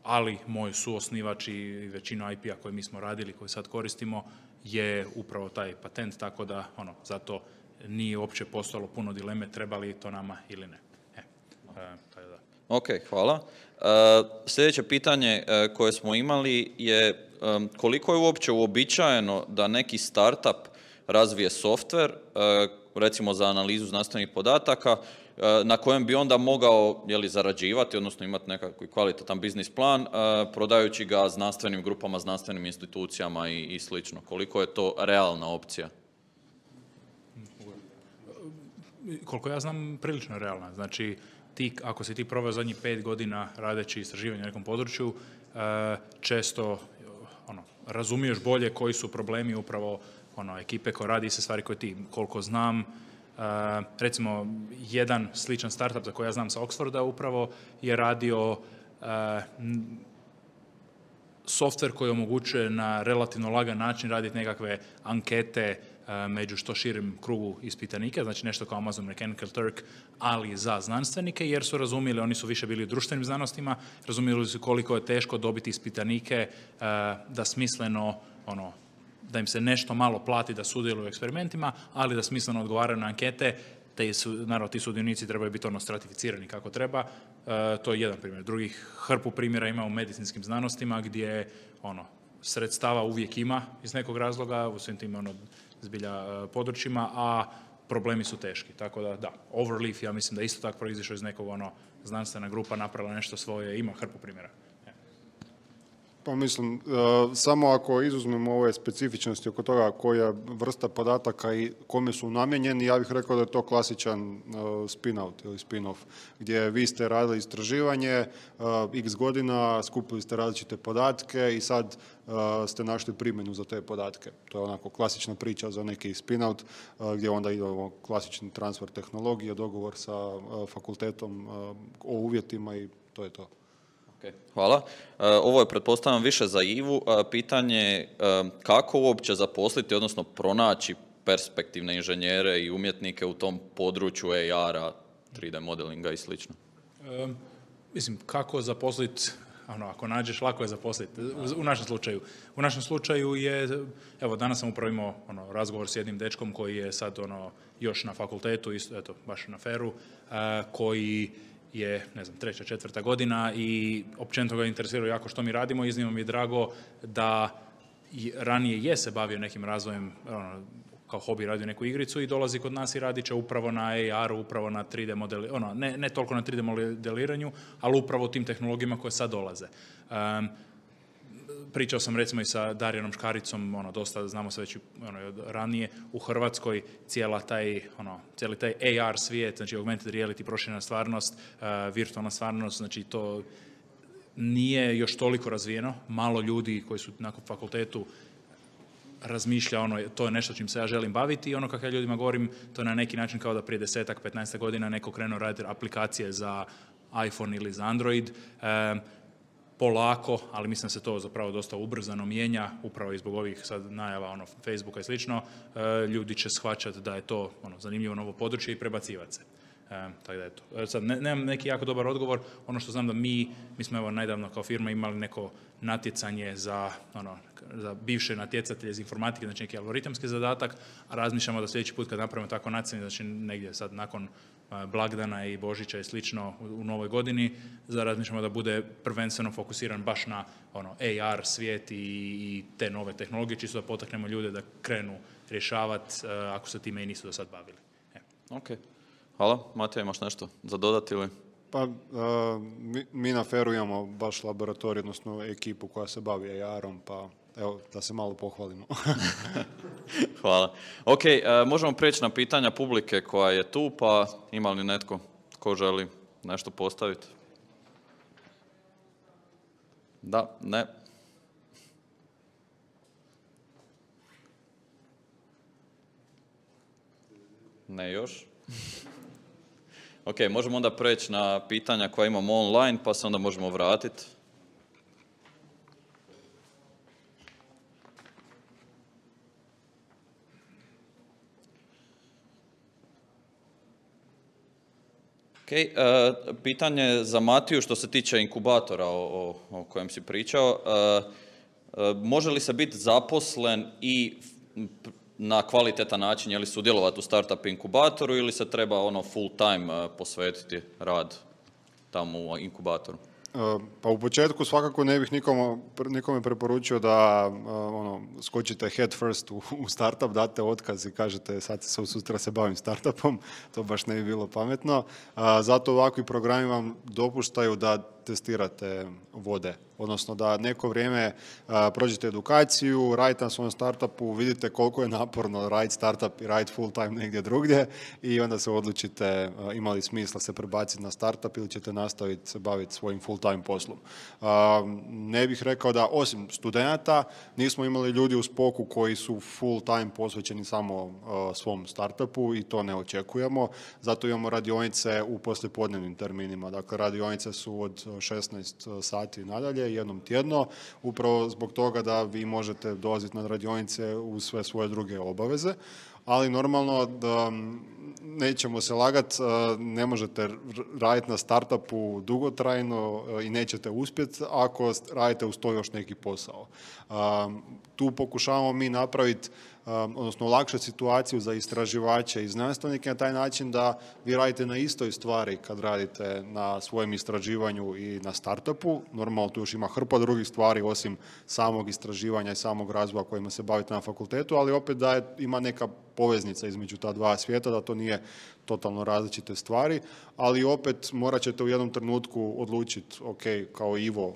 ali moj suosnivač i većinu IP-a koje mi smo radili, koje sad koristimo, je upravo taj patent, tako da zato nije uopće postojalo puno dileme treba li to nama ili ne. Ok, hvala. Sljedeće pitanje koje smo imali je koliko je uopće uobičajeno da neki startup razvije softver, recimo za analizu znanstvenih podataka, na kojem bi onda mogao zarađivati, odnosno imati nekakvi kvalitetan biznis plan, prodajući ga znanstvenim grupama, znanstvenim institucijama i slično. Koliko je to realna opcija? Koliko ja znam, prilično realna. Znači, ako si ti proveo zadnjih 5 godina radeći istraživanje na nekom području, često razumiješ bolje koji su problemi upravo ekipe koja radi iste stvari koje ti. Koliko znam, recimo, jedan sličan startup za koji ja znam sa Oxforda upravo je radio softver koji omogućuje na relativno lagan način raditi nekakve ankete među što širim krugu ispitanika, znači nešto kao Amazon Mechanical Turk, ali za znanstvenike, jer su razumjeli, oni su više bili u društvenim znanostima, razumjeli su koliko je teško dobiti ispitanike da smisleno, da im se nešto malo plati da sudjeluju u eksperimentima, ali da smisleno odgovaraju na ankete, naravno ti sudionici trebaju biti stratificirani kako treba. To je jedan primjer. Drugih hrpu primjera ima u medicinskim znanostima gdje sredstava uvijek ima iz nekog razloga u svim tim zbilja područjima, a problemi su teški. Tako da, Overleaf, ja mislim da isto tako proizišao iz nekog znanstvena grupa, napravila nešto svoje, ima hrpu primjera. Pa mislim, samo ako izuzmemo ove specifičnosti oko toga koja vrsta podataka i kome su namijenjeni, ja bih rekao da je to klasičan spin-out ili spin-off, gdje vi ste radili istraživanje, x godina, skupili ste različite podatke i sad ste našli primjenu za te podatke. To je onako klasična priča za neki spin-out, gdje onda ide klasični transfer tehnologije, dogovor sa fakultetom o uvjetima i to je to. Okay, hvala. Ovo je, pretpostavljam, više za Ivu. Pitanje je kako uopće zaposliti, odnosno pronaći perspektivne inženjere i umjetnike u tom području AR-a, 3D modelinga i slično? Mislim, kako zaposliti, ako nađeš, lako je zaposliti. U našem slučaju. U našem slučaju je, evo, danas sam upravo imao razgovor s jednim dečkom koji je sad još na fakultetu, eto, baš na FER-u, koji je, ne znam, 3., 4. godina i općenito ga interesirao jako što mi radimo. Iznimno mi je drago da ranije je se bavio nekim razvojem, kao hobi radio neku igricu i dolazi kod nas i radit će upravo na AR-u, upravo na 3D modeliranju, ne toliko na 3D modeliranju, ali upravo u tim tehnologijama koje sad dolaze. Pričao sam recimo i sa Darijanom Škaricom, dosta znamo se već ranije, u Hrvatskoj cijeli taj AR svijet, znači augmented reality, proširena stvarnost, virtualna stvarnost, znači to nije još toliko razvijeno. Malo ljudi koji su nakon fakultetu razmišlja, to je nešto čim se ja želim baviti i kako ja ljudima govorim, to je na neki način kao da prije 10-15 godina neko krenuo raditi aplikacije za iPhone ili za Android, polako, ali mislim da se to zapravo dosta ubrzano mijenja, upravo i zbog ovih sad najava Facebooka i slično, ljudi će shvaćati da je to zanimljivo novo područje i prebacivati se. Tako da eto. Sad, nemam neki jako dobar odgovor, ono što znam da mi smo evo nedavno kao firma imali neko natjecanje za bivše natjecatelje iz informatike, znači neki algoritamski zadatak, a razmišljamo da sljedeći put kad napravimo tako natjecanje, znači negdje sad nakon blagdana i Božića i slično u novoj godini, razmišljamo da bude prvenstveno fokusiran baš na AR svijet i te nove tehnologije, čisto da potaknemo ljude da krenu rješavati ako se time i nisu do sad bavili. Ok. Hvala. Matija, imaš nešto za dodati ili? Pa, mi na FER-u imamo baš laboratorij, odnosno ekipu koja se bavi AR-om, pa evo, da se malo pohvalimo. Hvala. Ok, možemo prijeći na pitanja publike koja je tu, pa ima li netko ko želi nešto postaviti? Da, ne. Ne još. Ok, možemo onda preći na pitanja koja imamo online, pa se onda možemo vratiti. Ok, pitanje za Matiju što se tiče inkubatora o kojem si pričao. Može li se biti zaposlen i na kvalitetan način, je li sudjelovati u startup inkubatoru ili se treba full time posvetiti rad tamo u inkubatoru? Pa u početku svakako ne bih nikome preporučio da skočite head first u startup, date otkaz i kažete sad sutra se bavim startupom, to baš ne bi bilo pametno. Zato ovakvi programi vam dopuštaju da testirate vode, odnosno da neko vrijeme prođete edukaciju, radite na svom startupu, vidite koliko je naporno raditi startup i raditi full time negdje drugdje i onda se odlučite ima li smisla se prebaciti na startup ili ćete nastaviti se baviti svojim full time poslom. Ne bih rekao da osim studenata nismo imali ljudi u Spoku koji su full time posvećeni samo svom startupu i to ne očekujemo, zato imamo radionice u poslijepodnevnim terminima. Dakle, radionice su od 16 sati nadalje, jednom tjedno, upravo zbog toga da vi možete dolaziti na radionice uz sve svoje druge obaveze, ali normalno da nećemo se lagati, ne možete raditi na startupu dugotrajno i nećete uspjeti ako radite uz to još neki posao. Tu pokušavamo mi napraviti, odnosno olakšati situaciju za istraživače i znanstvenike na taj način da vi radite na istoj stvari kad radite na svojem istraživanju i na startupu. Normalno tu još ima hrpa drugih stvari osim samog istraživanja i samog razvoja kojima se bavite na fakultetu, ali opet da ima neka poveznica između ta dva svijeta, da to nije totalno različite stvari, ali opet morat ćete u jednom trenutku odlučiti, ok, kao Ivo,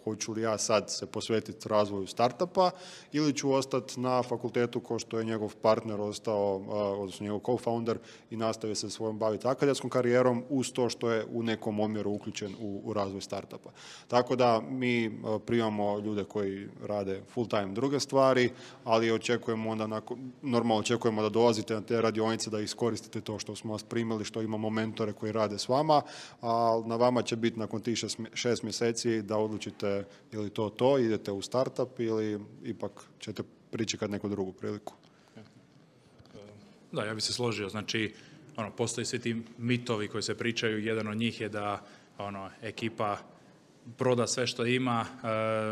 hoću li ja sad se posvetiti razvoju startupa ili ću ostati na fakultetu kao što je njegov partner ostao, odnosno njegov co-founder i nastavio se svojom baviti akademskom karijerom uz to što je u nekom omjeru uključen u razvoj startupa. Tako da mi primamo ljude koji rade full time druge stvari, ali očekujemo onda, normalno očekujemo da dolazite na te radionice, da iskoristite to što smo vas primili, što imamo mentore koji rade s vama, a na vama će biti nakon tih 6 mjeseci da odlučite ili to, idete u startup ili ipak ćete pričekati neku drugu priliku. Da, ja bih se složio. Znači, postoji svi ti mitovi koji se pričaju. Jedan od njih je da ekipa proda sve što ima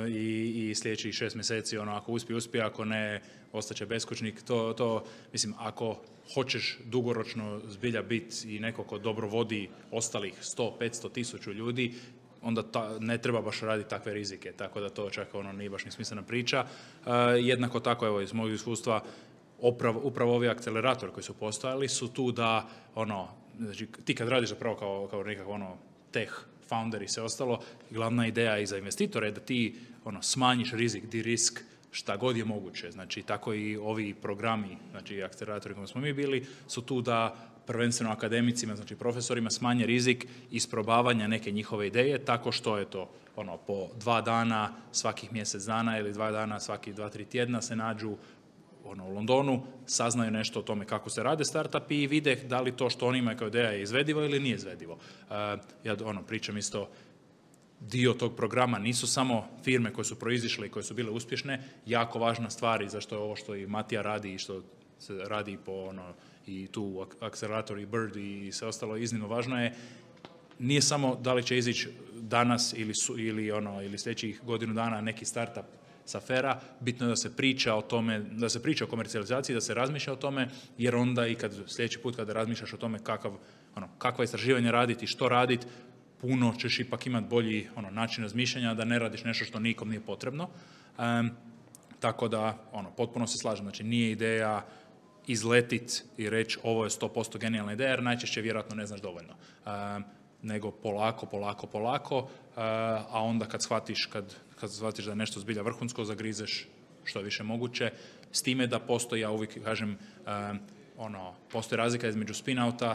i sljedećih 6 mjeseci, ako uspije, ako ne, ostaće beskućnik. Mislim, ako hoćeš dugoročno zbilja biti i neko ko dobro vodi ostalih 100, 500, 1000 ljudi, onda ne treba baš raditi takve rizike, tako da to čak nije baš ni smislena priča. Jednako tako, evo, iz mojeg iskustva, upravo ovi akceleratori koji su postojali su tu da, znači, ti kad radiš zapravo kao nekakav tech founder i sve ostalo, glavna ideja i za investitore je da ti smanjiš rizik, de-risk, šta god je moguće. Znači, tako i ovi programi, znači akceleratori koji smo mi bili, su tu da prvenstveno akademicima, znači profesorima, smanje rizik isprobavanja neke njihove ideje, tako što je to po 2 dana svakih mjesec dana ili 2 dana svaki 2-3 tjedna se nađu u Londonu, saznaju nešto o tome kako se rade startupi i vide da li to što oni imaju kao ideja je izvedivo ili nije izvedivo. Ja pričam isto, dio tog programa nisu samo firme koje su proizišle i koje su bile uspješne, jako važna stvar i zašto je ovo što i Matija radi i što se radi po i tu akcelerator i Bird i sve ostalo iznimno važno je, nije samo da li će izići danas ili sljedećih godinu dana neki startup sa afera, bitno je da se priča o tome, da se priča o komercijalizaciji, da se razmišlja o tome, jer onda i sljedeći put kada razmišljaš o tome kakva istraživanja raditi, što raditi, puno ćeš ipak imati bolji način razmišljanja, da ne radiš nešto što nikom nije potrebno. Tako da, potpuno se slažem. Znači, nije ideja izletit i reći ovo je 100% genijalna ideja, jer najčešće vjerojatno ne znaš dovoljno. Nego polako, a onda kad shvatiš da je nešto zbilja vrhunsko, zagrizeš što je više moguće. S time da postoji, ja uvijek kažem, postoji razlika između spin-outa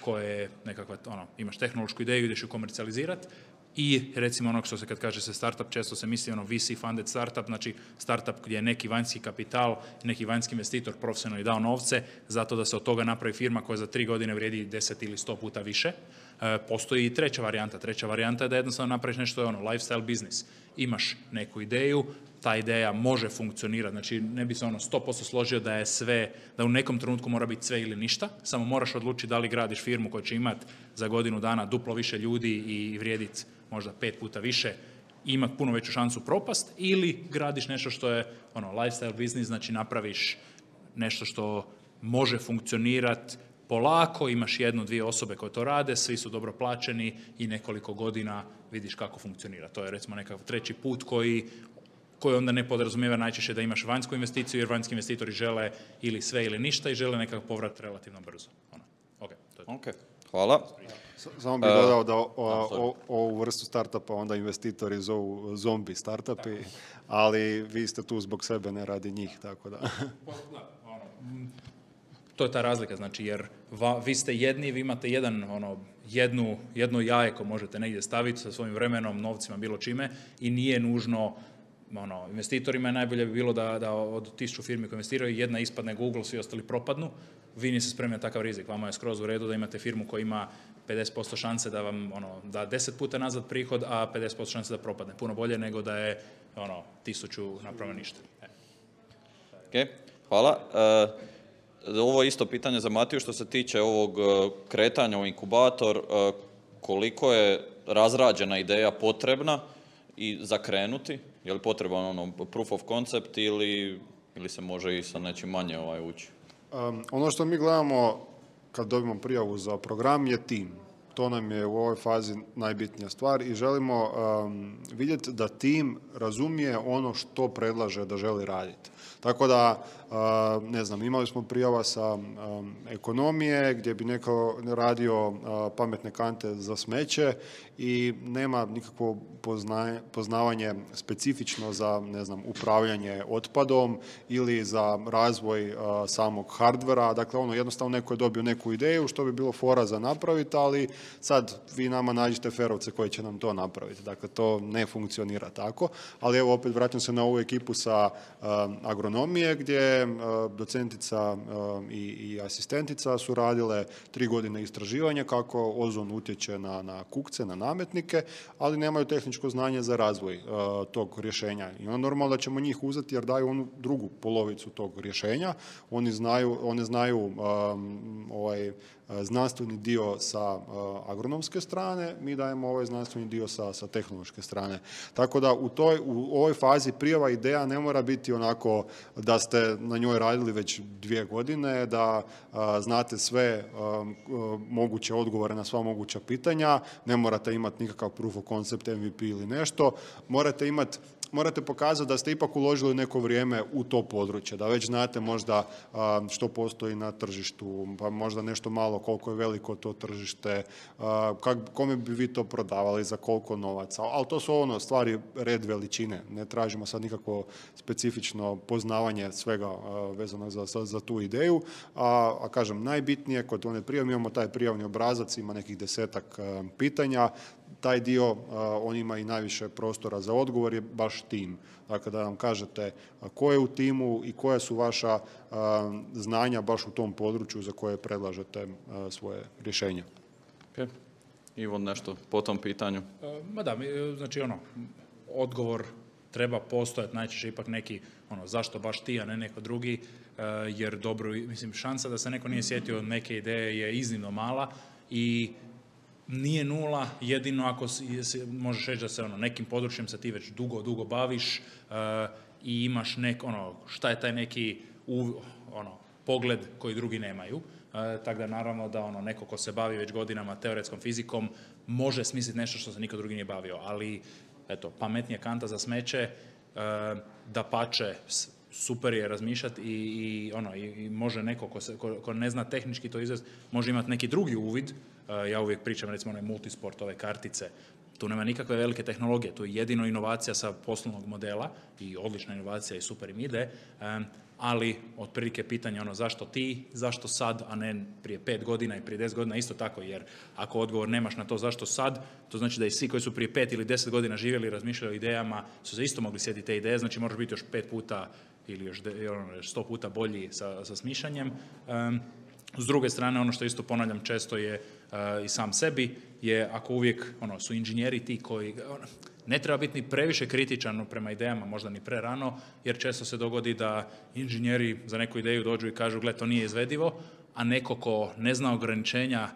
koje je nekakva, imaš tehnološku ideju, ideš ju komercijalizirati, i recimo što se kad kaže se startup, često se misli VC funded startup, znači startup gdje je neki vanjski kapital, neki vanjski investitor profesionalno dao novce zato da se od toga napravi firma koja za 3 godine vrijedi 10 ili 100 puta više. Postoji i treća varijanta je da jednostavno napraviš nešto lifestyle business. Imaš neku ideju, ta ideja može funkcionirati, znači ne bi se 100% složio da je sve, da u nekom trenutku mora biti sve ili ništa, samo moraš odlučiti da li gradiš firmu koja će imati za godinu dana duplo više ljudi i vrijediti možda 5 puta više, imati puno veću šansu propast, ili gradiš nešto što je lifestyle business, znači napraviš nešto što može funkcionirati polako, imaš 1-2 osobe koje to rade, svi su dobro plaćeni i nekoliko godina vidiš kako funkcionira. To je recimo nekakav treći put koji onda ne podrazumijeva najčešće da imaš vanjsku investiciju, jer vanjski investitori žele ili sve ili ništa i žele nekakav povrat relativno brzo. Ok, hvala. Samo bih dodao da ovu vrstu startupa onda investitori zovu zombi startupi, ali vi ste tu zbog sebe, ne radi njih, tako da. To je ta razlika, znači, jer vi ste jedni, vi imate jedno jaje koje možete negdje staviti sa svojim vremenom, novcima, bilo čime, i nije nužno investitorima je najbolje bi bilo da od 1000 firmi koje investiraju, jedna ispadne Google, svi ostali propadnu. Vi niste spremni na takav rizik. Vama je skroz u redu da imate firmu koja ima 50% šanse da vam da 10 puta nazad prihod, a 50% šanse da propadne. Puno bolje nego da je 1000 napravo ništa. Ok, hvala. Ovo je isto pitanje za Matiju što se tiče ovog kretanja u inkubator. Koliko je razrađena ideja potrebna i za krenuti? Je li potreban proof of concept ili se može i sa nečim manje ući? Ono što mi gledamo kad dobimo prijavu za program je tim. To nam je u ovoj fazi najbitnija stvar i želimo vidjeti da tim razumije ono što predlaže da želi raditi. Tako da, ne znam, imali smo prijava sa ekonomije gdje bi neko radio pametne kante za smeće i nema nikakvo poznavanje specifično za, ne znam, upravljanje otpadom ili za razvoj samog hardvera. Dakle, jednostavno neko je dobio neku ideju što bi bilo fora za napraviti, ali sad vi nama nađete ferovce koji će nam to napraviti. Dakle, to ne funkcionira tako. Ali evo, opet vraćam se na ovu ekipu sa agronomije gdje docentica i asistentica su radile 3 godine istraživanja kako ozon utječe na kukce, na nametnike, ali nemaju tehničko znanje za razvoj tog rješenja. I onda normalno da ćemo njih uzeti jer daju onu drugu polovicu tog rješenja. One znaju znanstveni dio sa agronomske strane, mi dajemo ovaj znanstveni dio sa tehnološke strane. Tako da u ovoj fazi prijava ideja ne mora biti onako da ste na njoj radili već 2 godine, da znate sve moguće odgovore na sva moguća pitanja, ne morate imati nikakav proof of concept, MVP ili nešto, morate pokazati da ste ipak uložili neko vrijeme u to područje, da već znate možda što postoji na tržištu, pa možda nešto malo koliko je veliko to tržište, kome bi vi to prodavali, za koliko novaca, ali to su stvari red veličine, ne tražimo sad nikakvo specifično poznavanje svega vezano za tu ideju, a kažem, najbitnije kod one prijave, imamo taj prijavni obrazac, ima nekih 10-ak pitanja, taj dio, on ima i najviše prostora za odgovor, je baš tim. Dakle, da nam kažete ko je u timu i koja su vaša znanja baš u tom području za koje predlažete svoje rješenja. Okay. Ivo, nešto po tom pitanju? Znači odgovor treba postojati, najčešće ipak neki, zašto baš ti, a ne neko drugi, jer šansa da se neko nije sjetio od neke ideje je iznimno mala i nije nula, jedino ako možeš reći da se nekim područjem se ti već dugo baviš i imaš šta je taj neki pogled koji drugi nemaju. Tako da naravno da neko ko se bavi već godinama teoretskom fizikom može smisliti nešto što se niko drugi nije bavio, ali pametnija kanta za smeće, dapače, super je razmišljati i može neko ko ne zna tehnički to izvesti, može imati neki drugi uvid. Ja uvijek pričam recimo multisport, ove kartice, tu nema nikakve velike tehnologije, tu je jedino inovacija sa poslovnog modela i odlična inovacija i super im ide, ali otprilike pitanje zašto ti, zašto sad, a ne prije 5 godina i prije 10 godina, isto tako, jer ako odgovor nemaš na to zašto sad, to znači da i svi koji su prije 5 ili 10 godina živjeli i razmišljali o idejama su se isto mogli sjetiti te ideje, znači moraš biti još 5 puta ili još 100 puta bolji sa smišljanjem. S druge strane, što isto ponavljam često je i sam sebi, je ako uvijek su inženjeri ti koji ne treba biti ni previše kritičan prema idejama, možda ni prerano, jer često se dogodi da inženjeri za neku ideju dođu i kažu gle, to nije izvedivo, a neko ko ne zna ograničenja,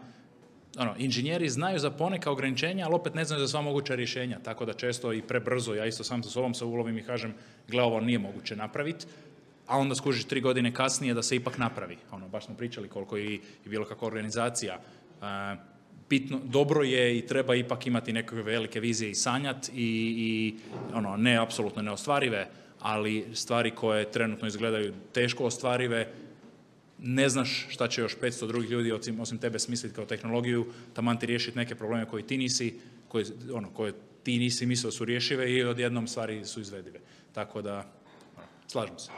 inženjeri znaju za poneka ograničenja, ali opet ne znaju za sva moguća rješenja, tako da često i prebrzo, ja isto sam sa sobom se ulovim i kažem, gle, ovo nije moguće napraviti, a onda skužiš 3 godine kasnije da se ipak napravi. Baš smo pričali koliko i bilo kakva organizacija. Dobro je i treba ipak imati nekakve velike vizije i sanjati i ne apsolutno neostvarive, ali stvari koje trenutno izgledaju teško ostvarive, ne znaš šta će još 500 drugih ljudi osim tebe smisliti kao tehnologiju, taman ti riješiti neke probleme koje ti nisi mislio su rješive i odjednom stvari su izvedive. Tako da, slažem se.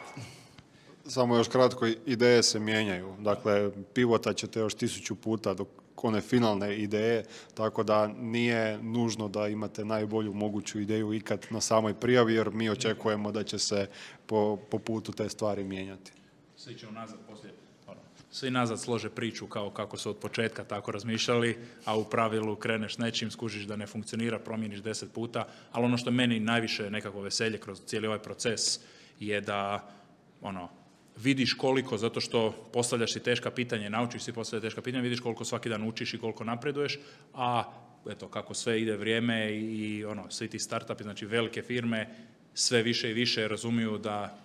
Samo još kratko, ideje se mijenjaju. Dakle, pivotat ćete još 1000 puta dok one finalne ideje, tako da nije nužno da imate najbolju moguću ideju ikad na samoj prijavi, jer mi očekujemo da će se po putu te stvari mijenjati. Svi će unazad poslije, svi nazad slože priču kao kako su od početka tako razmišljali, a u pravilu kreneš s nečim, skužiš da ne funkcionira, promijeniš 10 puta, ali ono što meni najviše nekako veselje kroz cijeli ovaj proces je da vidiš koliko, zato što postavljaš si teška pitanja, naučiš si postavljati teška pitanja, vidiš koliko svaki dan učiš i koliko napreduješ, a eto, kako sve ide vrijeme i svi ti startupi, znači velike firme, sve više i više razumiju da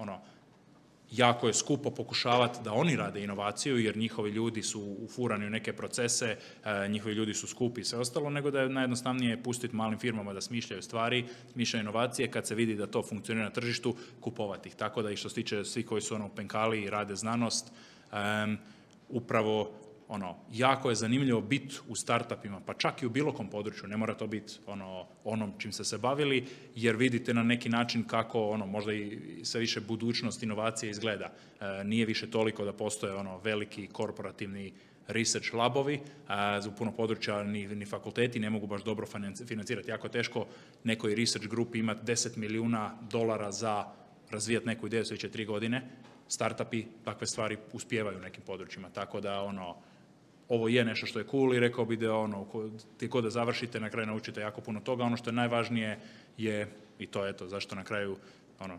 jako je skupo pokušavati da oni rade inovaciju, jer njihovi ljudi su ufurani u neke procese, njihovi ljudi su skupi i sve ostalo, nego da je najjednostavnije pustiti malim firmama da smišljaju stvari, smišljaju inovacije, kad se vidi da to funkcionira na tržištu, kupovati ih. Tako da i što se tiče svi koji su penkali i rade znanost, upravo jako je zanimljivo biti u startupima, pa čak i u bilo kom području, ne mora to biti onom čim ste se bavili, jer vidite na neki način kako možda i sve više budućnost inovacije izgleda. Nije više toliko da postoje veliki korporativni research labovi, za puno područja ni fakulteti ne mogu baš dobro financirati. Jako teško nekoj research grupi imati $10 milijuna za razvijati neku ideju sljedeće 3 godine. Startupi takve stvari uspijevaju u nekim područjima, tako da ovo je nešto što je cool i rekao bi da ti kod da završite, na kraju naučite jako puno toga. Ono što je najvažnije je, i to je to zašto na kraju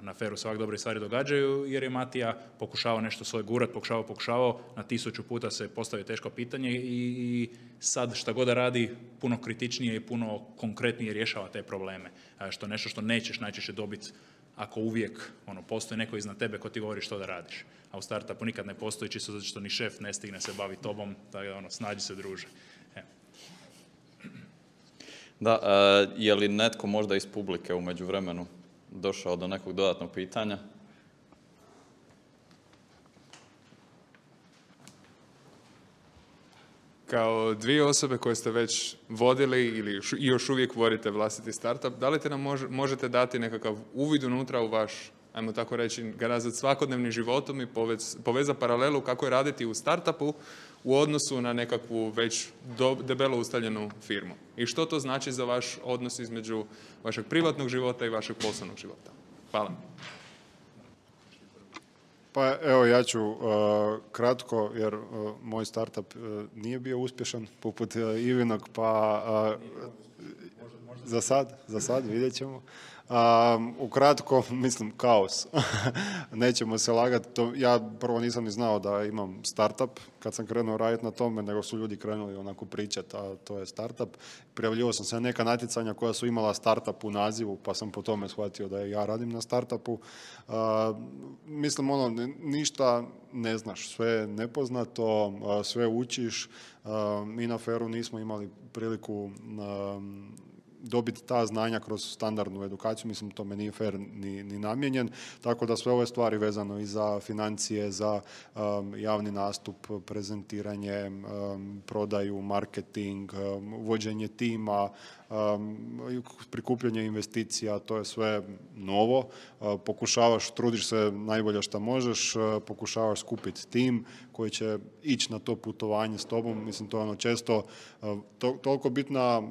na FER-u se ovak dobre stvari događaju, jer je Matija pokušavao nešto svoje gurat, pokušavao, na 1000 puta se postavio teško pitanje i sad šta god da radi, puno kritičnije i puno konkretnije rješava te probleme. Što je nešto što nećeš najčešće dobiti ako uvijek postoji neko iznad tebe ko ti govori što da radiš. A u startupu nikad ne postoji, čisto zato što ni šef ne stigne se baviti tobom, tako da snađi se, druže. Da, je li netko možda iz publike u međuvremenu došao do nekog dodatnog pitanja? Kao 2 osobe koje ste već vodili ili još uvijek vodite vlastiti startup, da li te nam možete dati nekakav uvid unutra u vaš, ajmo tako reći, ga nazvati svakodnevnim životom i poveza paralelu kako je raditi u startupu u odnosu na nekakvu već debelo ustaljenu firmu? I što to znači za vaš odnos između vašeg privatnog života i vašeg poslovnog života? Hvala. Pa evo, ja ću kratko, jer moj startup nije bio uspješan poput Ivinog, pa za sad vidjet ćemo. Ukratko, mislim, kaos. Nećemo se lagati. Ja prvo nisam ni znao da imam startup kad sam krenuo raditi na tome, nego su ljudi krenuli onako pričati, a to je startup. Prijavljivao sam se na neka natjecanja koja su imala startup u nazivu, pa sam po tome shvatio da ja radim na startupu. Mislim, ništa ne znaš, sve je nepoznato, sve učiš. Mi na FER-u nismo imali priliku dobiti ta znanja kroz standardnu edukaciju, mislim tome nije FER ni namijenjen, tako da sve ove stvari vezano i za financije, za javni nastup, prezentiranje, prodaju, marketing, vođenje tima, prikupljanje investicija, to je sve novo. Pokušavaš, trudiš se najbolje što možeš, pokušavaš skupiti tim koji će ići na to putovanje s tobom. Mislim, to je često toliko bitna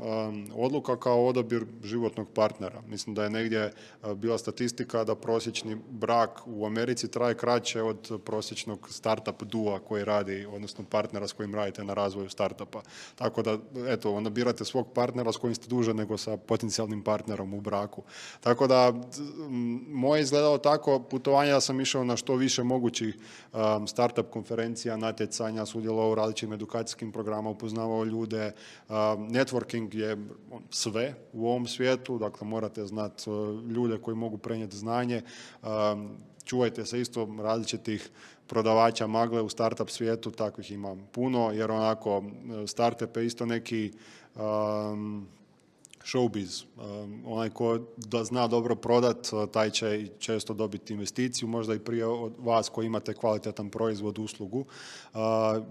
odluka kao odabir životnog partnera. Mislim da je negdje bila statistika da prosječni brak u Americi traje kraće od prosječnog startup dua koji radi, odnosno partnera s kojim radite na razvoju startupa. Tako da, eto, onda birate svog partnera s kojim ste duže nego sa potencijalnim partnerom u braku. Tako da, moje izgledalo tako, putovanja sam išao na što više mogućih startup konferencija, natjecanja, sudjelovao u različitim edukacijskim programima, upoznavao ljude. Networking je sve u ovom svijetu, dakle morate znati ljude koji mogu prenijeti znanje. Čuvajte se isto različitih prodavača magle u startup svijetu, takvih ima puno, jer onako startup je isto neki showbiz. Onaj ko da zna dobro prodat, taj će često dobiti investiciju, možda i prije od vas koji imate kvalitetan proizvod, uslugu.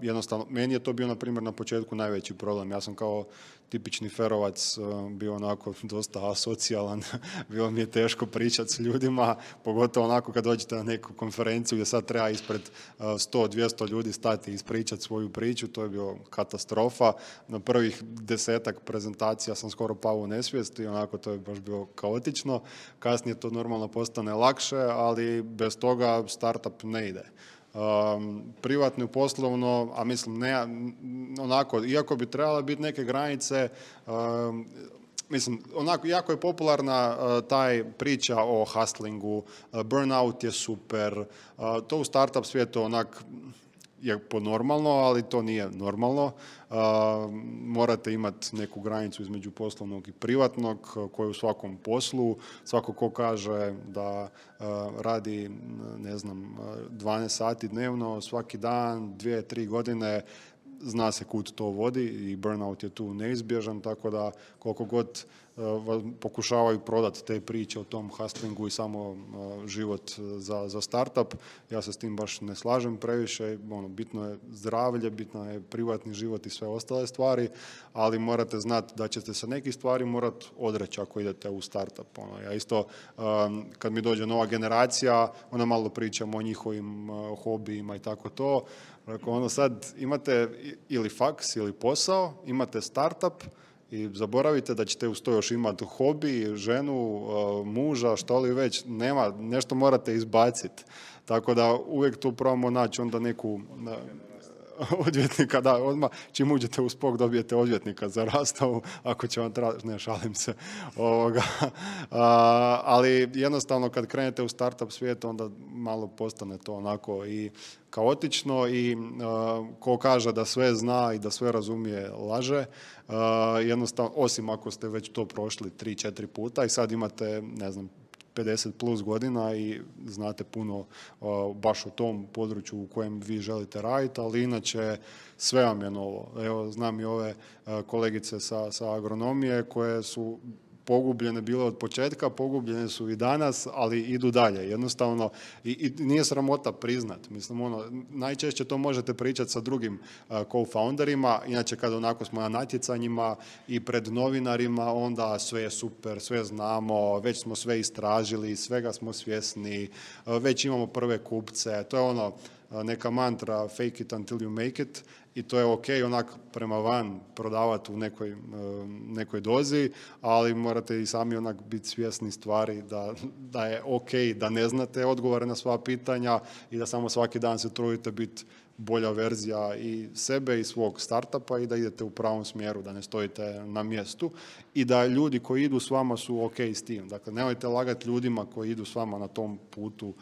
Jednostavno, meni je to bio, na primjer, na početku najveći problem. Ja sam kao tipični ferovac bio onako dosta asocijalan, bilo mi je teško pričati s ljudima, pogotovo onako kad dođete na neku konferenciju gdje sad treba ispred 100-200 ljudi stati i ispričati svoju priču, to je bio katastrofa. Na prvih 10 prezentacija sam skoro pao u nesvijest i onako to je baš bilo kaotično. Kasnije to normalno postane lakše, ali bez toga startup ne ide. Privatno i poslovno, a mislim ne, onako, iako bi trebale biti neke granice, mislim, onako, jako je popularna taj priča o hustlingu, burnout je super, to u startup svijetu onak je normalno, ali to nije normalno. Morate imati neku granicu između poslovnog i privatnog, koji u svakom poslu, svako ko kaže da radi, ne znam, 12 sati dnevno, svaki dan, 2-3 godine, zna se kud to vodi i burnout je tu neizbježan, tako da koliko god pokušavaju prodati te priče o tom hustlingu i samo život za startup, ja se s tim baš ne slažem previše. Bitno je zdravlje, bitno je privatni život i sve ostale stvari, ali morate znati da ćete se nekih stvari morati odreći ako idete u startup. Ja isto, kad mi dođe nova generacija, onda malo pričamo o njihovim hobijima i tako to. Sad imate ili faks ili posao, imate startup i zaboravite da ćete uz to još imati hobi, ženu, muža, što li već, nema, nešto morate izbaciti. Tako da uvijek tu probamo naći onda neku odvjetnika, da, odmah čim uđete u Spok dobijete odvjetnika za rastavu, ako će vam tražiti, ne, šalim se. Ali jednostavno kad krenete u startup svijet, onda malo postane to onako i kaotično i ko kaže da sve zna i da sve razumije, laže. Jednostavno, osim ako ste već to prošli 3-4 puta i sad imate, ne znam, 50 plus godina i znate puno baš u tom području u kojem vi želite raditi, ali inače sve vam je novo. Evo, znam i ove kolegice sa agronomije koje su pogubljene bile od početka, pogubljene su i danas, ali idu dalje. Jednostavno, i nije sramota priznat. Mislim, najčešće to možete pričati sa drugim co-founderima, inače kad onako smo na natjecanjima i pred novinarima, onda sve je super, sve znamo, već smo sve istražili, svega smo svjesni, već imamo prve kupce, to je neka mantra fake it until you make it i to je ok onak prema van prodavati u nekoj dozi, ali morate i sami onak biti svjesni stvari da je ok da ne znate odgovore na sva pitanja i da samo svaki dan se trudite biti bolja verzija i sebe i svog startupa i da idete u pravom smjeru, da ne stojite na mjestu i da ljudi koji idu s vama su ok s tim. Dakle, nemojte lagati ljudima koji idu s vama na tom putu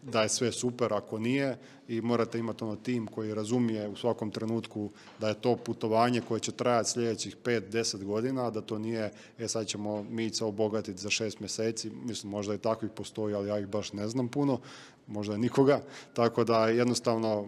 da je sve super ako nije i morate imati tim koji razumije u svakom trenutku da je to putovanje koje će trajati sljedećih 5-10 godina, da to nije sad ćemo mi se obogatiti za 6 mjeseci, mislim možda i takvih postoji, ali ja ih baš ne znam puno, možda nikoga, tako da jednostavno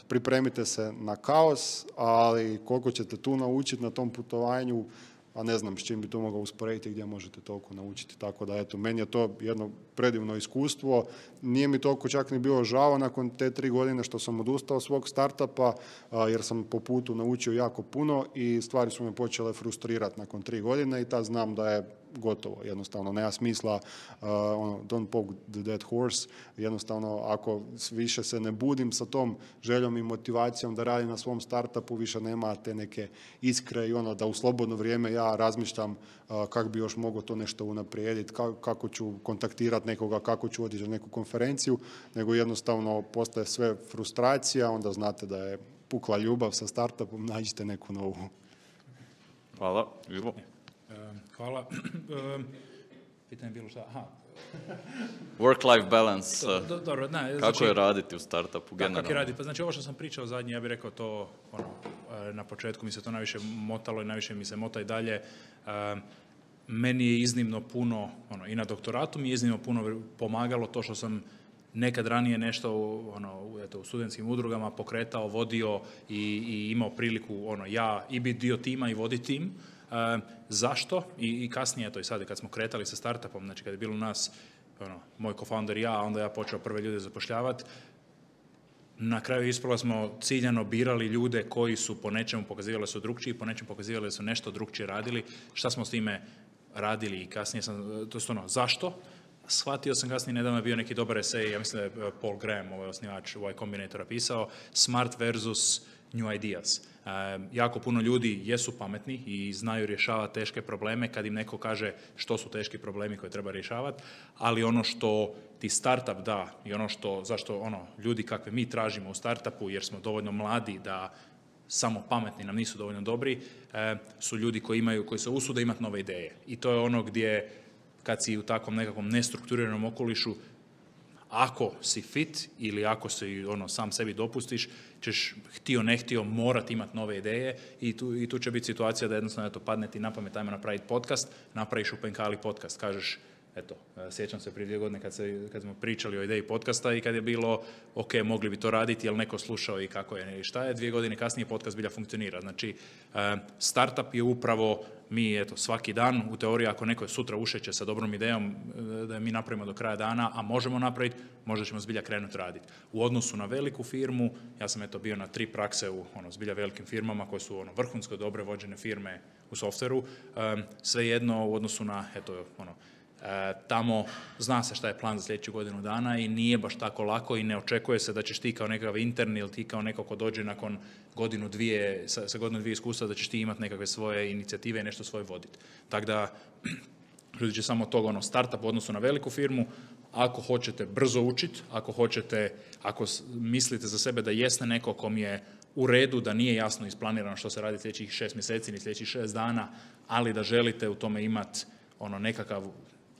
pripremite se na kaos, ali koliko ćete tu naučiti na tom putovanju, a ne znam s čim bi to mogao usporediti gdje možete toliko naučiti. Tako da, eto, meni je to jedno predivno iskustvo. Nije mi toliko čak ni bilo žao nakon te 3 godine što sam odustao svog startupa, jer sam po putu naučio jako puno i stvari su me počele frustrirati nakon 3 godine i tad znam da je gotovo. Jednostavno, nema smisla don't poke the dead horse. Jednostavno, ako više se ne budim sa tom željom i motivacijom da radim na svom startupu, više nema te neke iskre i da u slobodno vrijeme ja razmišljam kako bi još mogao to nešto unaprijediti, kako ću kontaktirati nekoga, kako ću otići na neku konferenciju, nego jednostavno postaje sve frustracija, onda znate da je pukla ljubav sa startupom, nađite neku novu. Hvala. Ivo? Hvala. Pitanje je bilo šta? Aha. Work-life balance. Dobro, ne, kako je raditi u startupu generalno? Kako je raditi? Pa znači ovo što sam pričao zadnje, ja bih rekao to, na početku mi se to najviše motalo i najviše mi se mota i dalje. Meni je iznimno puno, i na doktoratu mi je iznimno puno pomagalo to što sam nekad ranije nešto u studentskim udrugama pokretao, vodio i imao priliku ja i biti dio tima i voditi tim. Zašto? I kasnije, to i sad kad smo kretali sa startupom, znači kad je bilo nas, moj co-founder i ja, onda ja počeo prve ljude zapošljavati, na kraju ispala smo ciljano birali ljude koji su po nečemu pokazivali da su drukčiji, po nečemu pokazivali da su nešto drukčije radili. Šta smo s time radili i kasnije sam, to je zašto? Shvatio sam kasnije, nedavno je bio neki dobar esej, ja mislim da je Paul Graham, osnivač Y Combinatora, pisao Smart versus New Ideas. Jako puno ljudi jesu pametni i znaju rješavati teške probleme kad im neko kaže što su teški problemi koje treba rješavati, ali ono što ti startup da i ono zašto ljudi kakve mi tražimo u startupu, jer smo dovoljno mladi da samo pametni nam nisu dovoljno dobri, su ljudi koji se usude imati nove ideje. I to je ono gdje kad si u takvom nekakvom nestrukturiranom okolišu, ako si fit ili ako si sam sebi dopustiš, ćeš htio ne htio morati imati nove ideje i tu će biti situacija da jednostavno padne ti na pamet, ajmo napraviti podcast, napraviš u Penkali podcast, kažeš, sjećam se prije 2 godine kad smo pričali o ideji podcasta i kad je bilo, ok, mogli bi to raditi, jel neko slušao i kako je i šta je, 2 godine kasnije podcast bilja funkcionira. Znači, startup je upravo mi, svaki dan, u teoriji, ako neko je sutra ušeće sa dobrom idejom da je mi napravimo do kraja dana, a možemo napraviti, možda ćemo zbilja krenuti raditi. U odnosu na veliku firmu, ja sam bio na 3 prakse u zbilja velikim firmama koje su vrhunsko dobre vođene firme u softveru, svejedno u odnosu na, tamo zna se šta je plan za sljedeću godinu dana i nije baš tako lako i ne očekuje se da ćeš ti kao nekakav intern ili ti kao neko ko dođe nakon godinu, dvije, sa godinu, dvije iskustva da ćeš ti imati nekakve svoje inicijative i nešto svoje voditi. Tako da, ljudi će samo toga startup u odnosu na veliku firmu, ako hoćete brzo učiti, ako mislite za sebe da jeste neko kom je u redu, da nije jasno isplanirano što se radi sljedećih 6 mjeseci ni sljedećih 6 dana, ali da želite u tome imati nekakav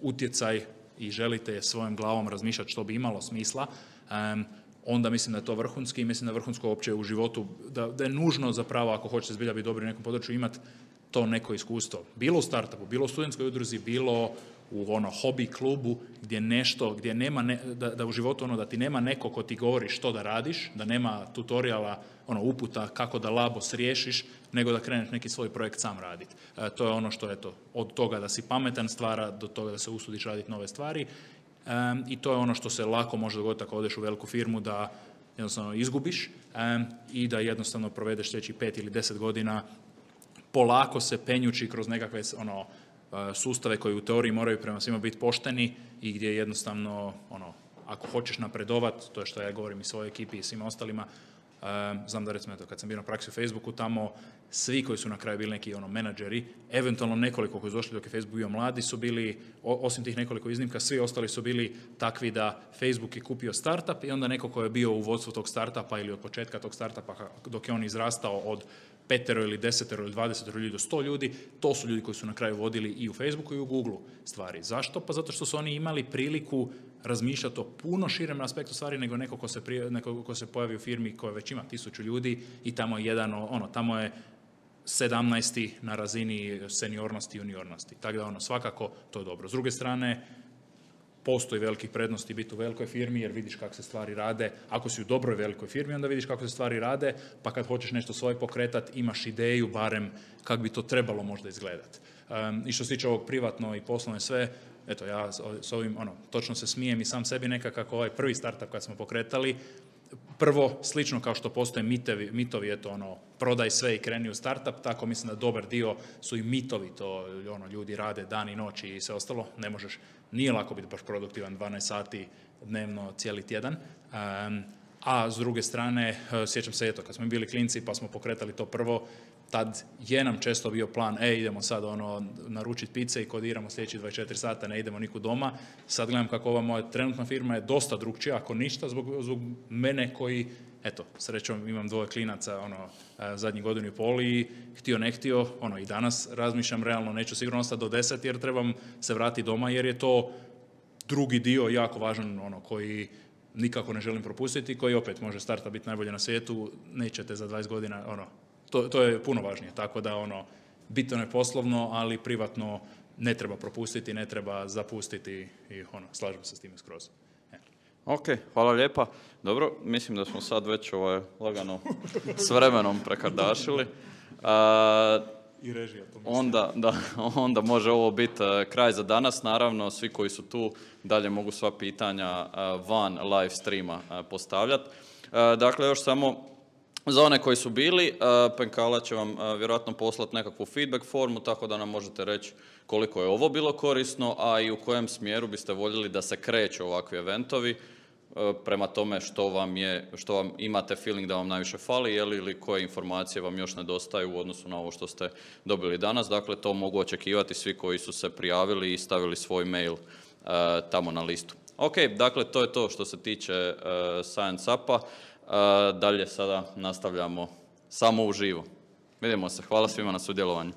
utjecaj i želite svojom glavom razmišljati što bi imalo smisla, onda mislim da je to vrhunski i mislim da je vrhunsko uopće u životu, da je nužno zapravo ako hoćete zbilja biti dobri u nekom području imati to neko iskustvo. Bilo u startupu, bilo u studentskoj udruzi, bilo u hobi klubu gdje nema, da u životu da ti nema neko ko ti govori što da radiš, da nema tutoriala, uputa kako da labos riješiš, nego da kreneš neki svoj projekt sam raditi. To je ono što od toga da si pametan stvara do toga da se usudiš raditi nove stvari i to je ono što se lako može dogoditi ako odeš u veliku firmu da jednostavno izgubiš i da jednostavno provedeš sljedećih 5 ili 10 godina polako se penjući kroz nekakve sustave koji u teoriji moraju prema svima biti pošteni i gdje jednostavno, ako hoćeš napredovat, to je što ja govorim i svojoj ekipi i svima ostalima, znam da recimo kad sam bio na praksi u Facebooku, tamo svi koji su na kraju bili neki menadžeri, eventualno nekoliko koji su došli dok je Facebook bio mladi su bili, osim tih nekoliko iznimka, svi ostali su bili takvi da Facebook je kupio startup i onda neko ko je bio u vodstvu tog startupa ili od početka tog startupa dok je on izrastao od 5 ili 10 ili 20 ljudi do 100 ljudi, to su ljudi koji su na kraju vodili i u Facebooku i u Googleu stvari. Zašto? Pa zato što su oni imali priliku razmišljati o puno širem aspektu stvari nego neko ko se pojavi u firmi koja već ima 1000 ljudi i tamo je tamo je 17. na razini seniornosti i juniornosti. Tako da svakako to je dobro. S druge strane, postoji velikih prednosti biti u velikoj firmi jer vidiš kako se stvari rade. Ako si u dobroj velikoj firmi, onda vidiš kako se stvari rade, pa kad hoćeš nešto svoje pokretati, imaš ideju barem kako bi to trebalo možda izgledati. I što se tiče ovog privatno i poslovno sve, ja s ovim točno se smijem i sam sebi nekako ovaj prvi startup kad smo pokretali, prvo, slično kao što postoje mitovi, prodaj sve i kreni u startup, tako mislim da dobar dio su i mitovi, to ljudi rade dan i noć i sve ostalo, ne možeš, nije lako biti baš produktivan 12 sati dnevno cijeli tjedan, a s druge strane, sjećam se, kad smo bili klinci pa smo pokretali to prvo, tad je nam često bio plan, idemo sad naručiti pice i kodiramo sljedeći 24 sata, ne idemo nikud doma. Sad gledam kako ova moja trenutna firma je dosta drukčija, ako ništa, zbog mene koji, srećom imam 2 klinaca, zadnjih godinu i pol i htio ne htio, i danas razmišljam realno, neću sigurno ostati do 10 jer trebam se vratiti doma jer je to drugi dio jako važan, koji nikako ne želim propustiti, koji opet može starta biti najbolje na svijetu, nećete za 20 godina, to je puno važnije, tako da bitno je poslovno, ali privatno ne treba propustiti, ne treba zapustiti i slažem se s time skroz. Ok, hvala lijepa. Dobro, mislim da smo sad već lagano s vremenom prekardašili. i režija. To mislim. Onda može ovo biti kraj za danas. Naravno, svi koji su tu dalje mogu sva pitanja van live streama postavljati. Dakle, još samo za one koji su bili, Penkala će vam vjerojatno poslati nekakvu feedback formu, tako da nam možete reći koliko je ovo bilo korisno, a i u kojem smjeru biste voljeli da se kreću ovakvi eventovi, prema tome što vam imate feeling da vam najviše fali, ili koje informacije vam još nedostaju u odnosu na ovo što ste dobili danas. Dakle, to mogu očekivati svi koji su se prijavili i stavili svoj mail tamo na listu. Ok, dakle, to je to što se tiče Science Upa. Dalje sada nastavljamo samo uživo. Vidimo se. Hvala svima na sudjelovanju.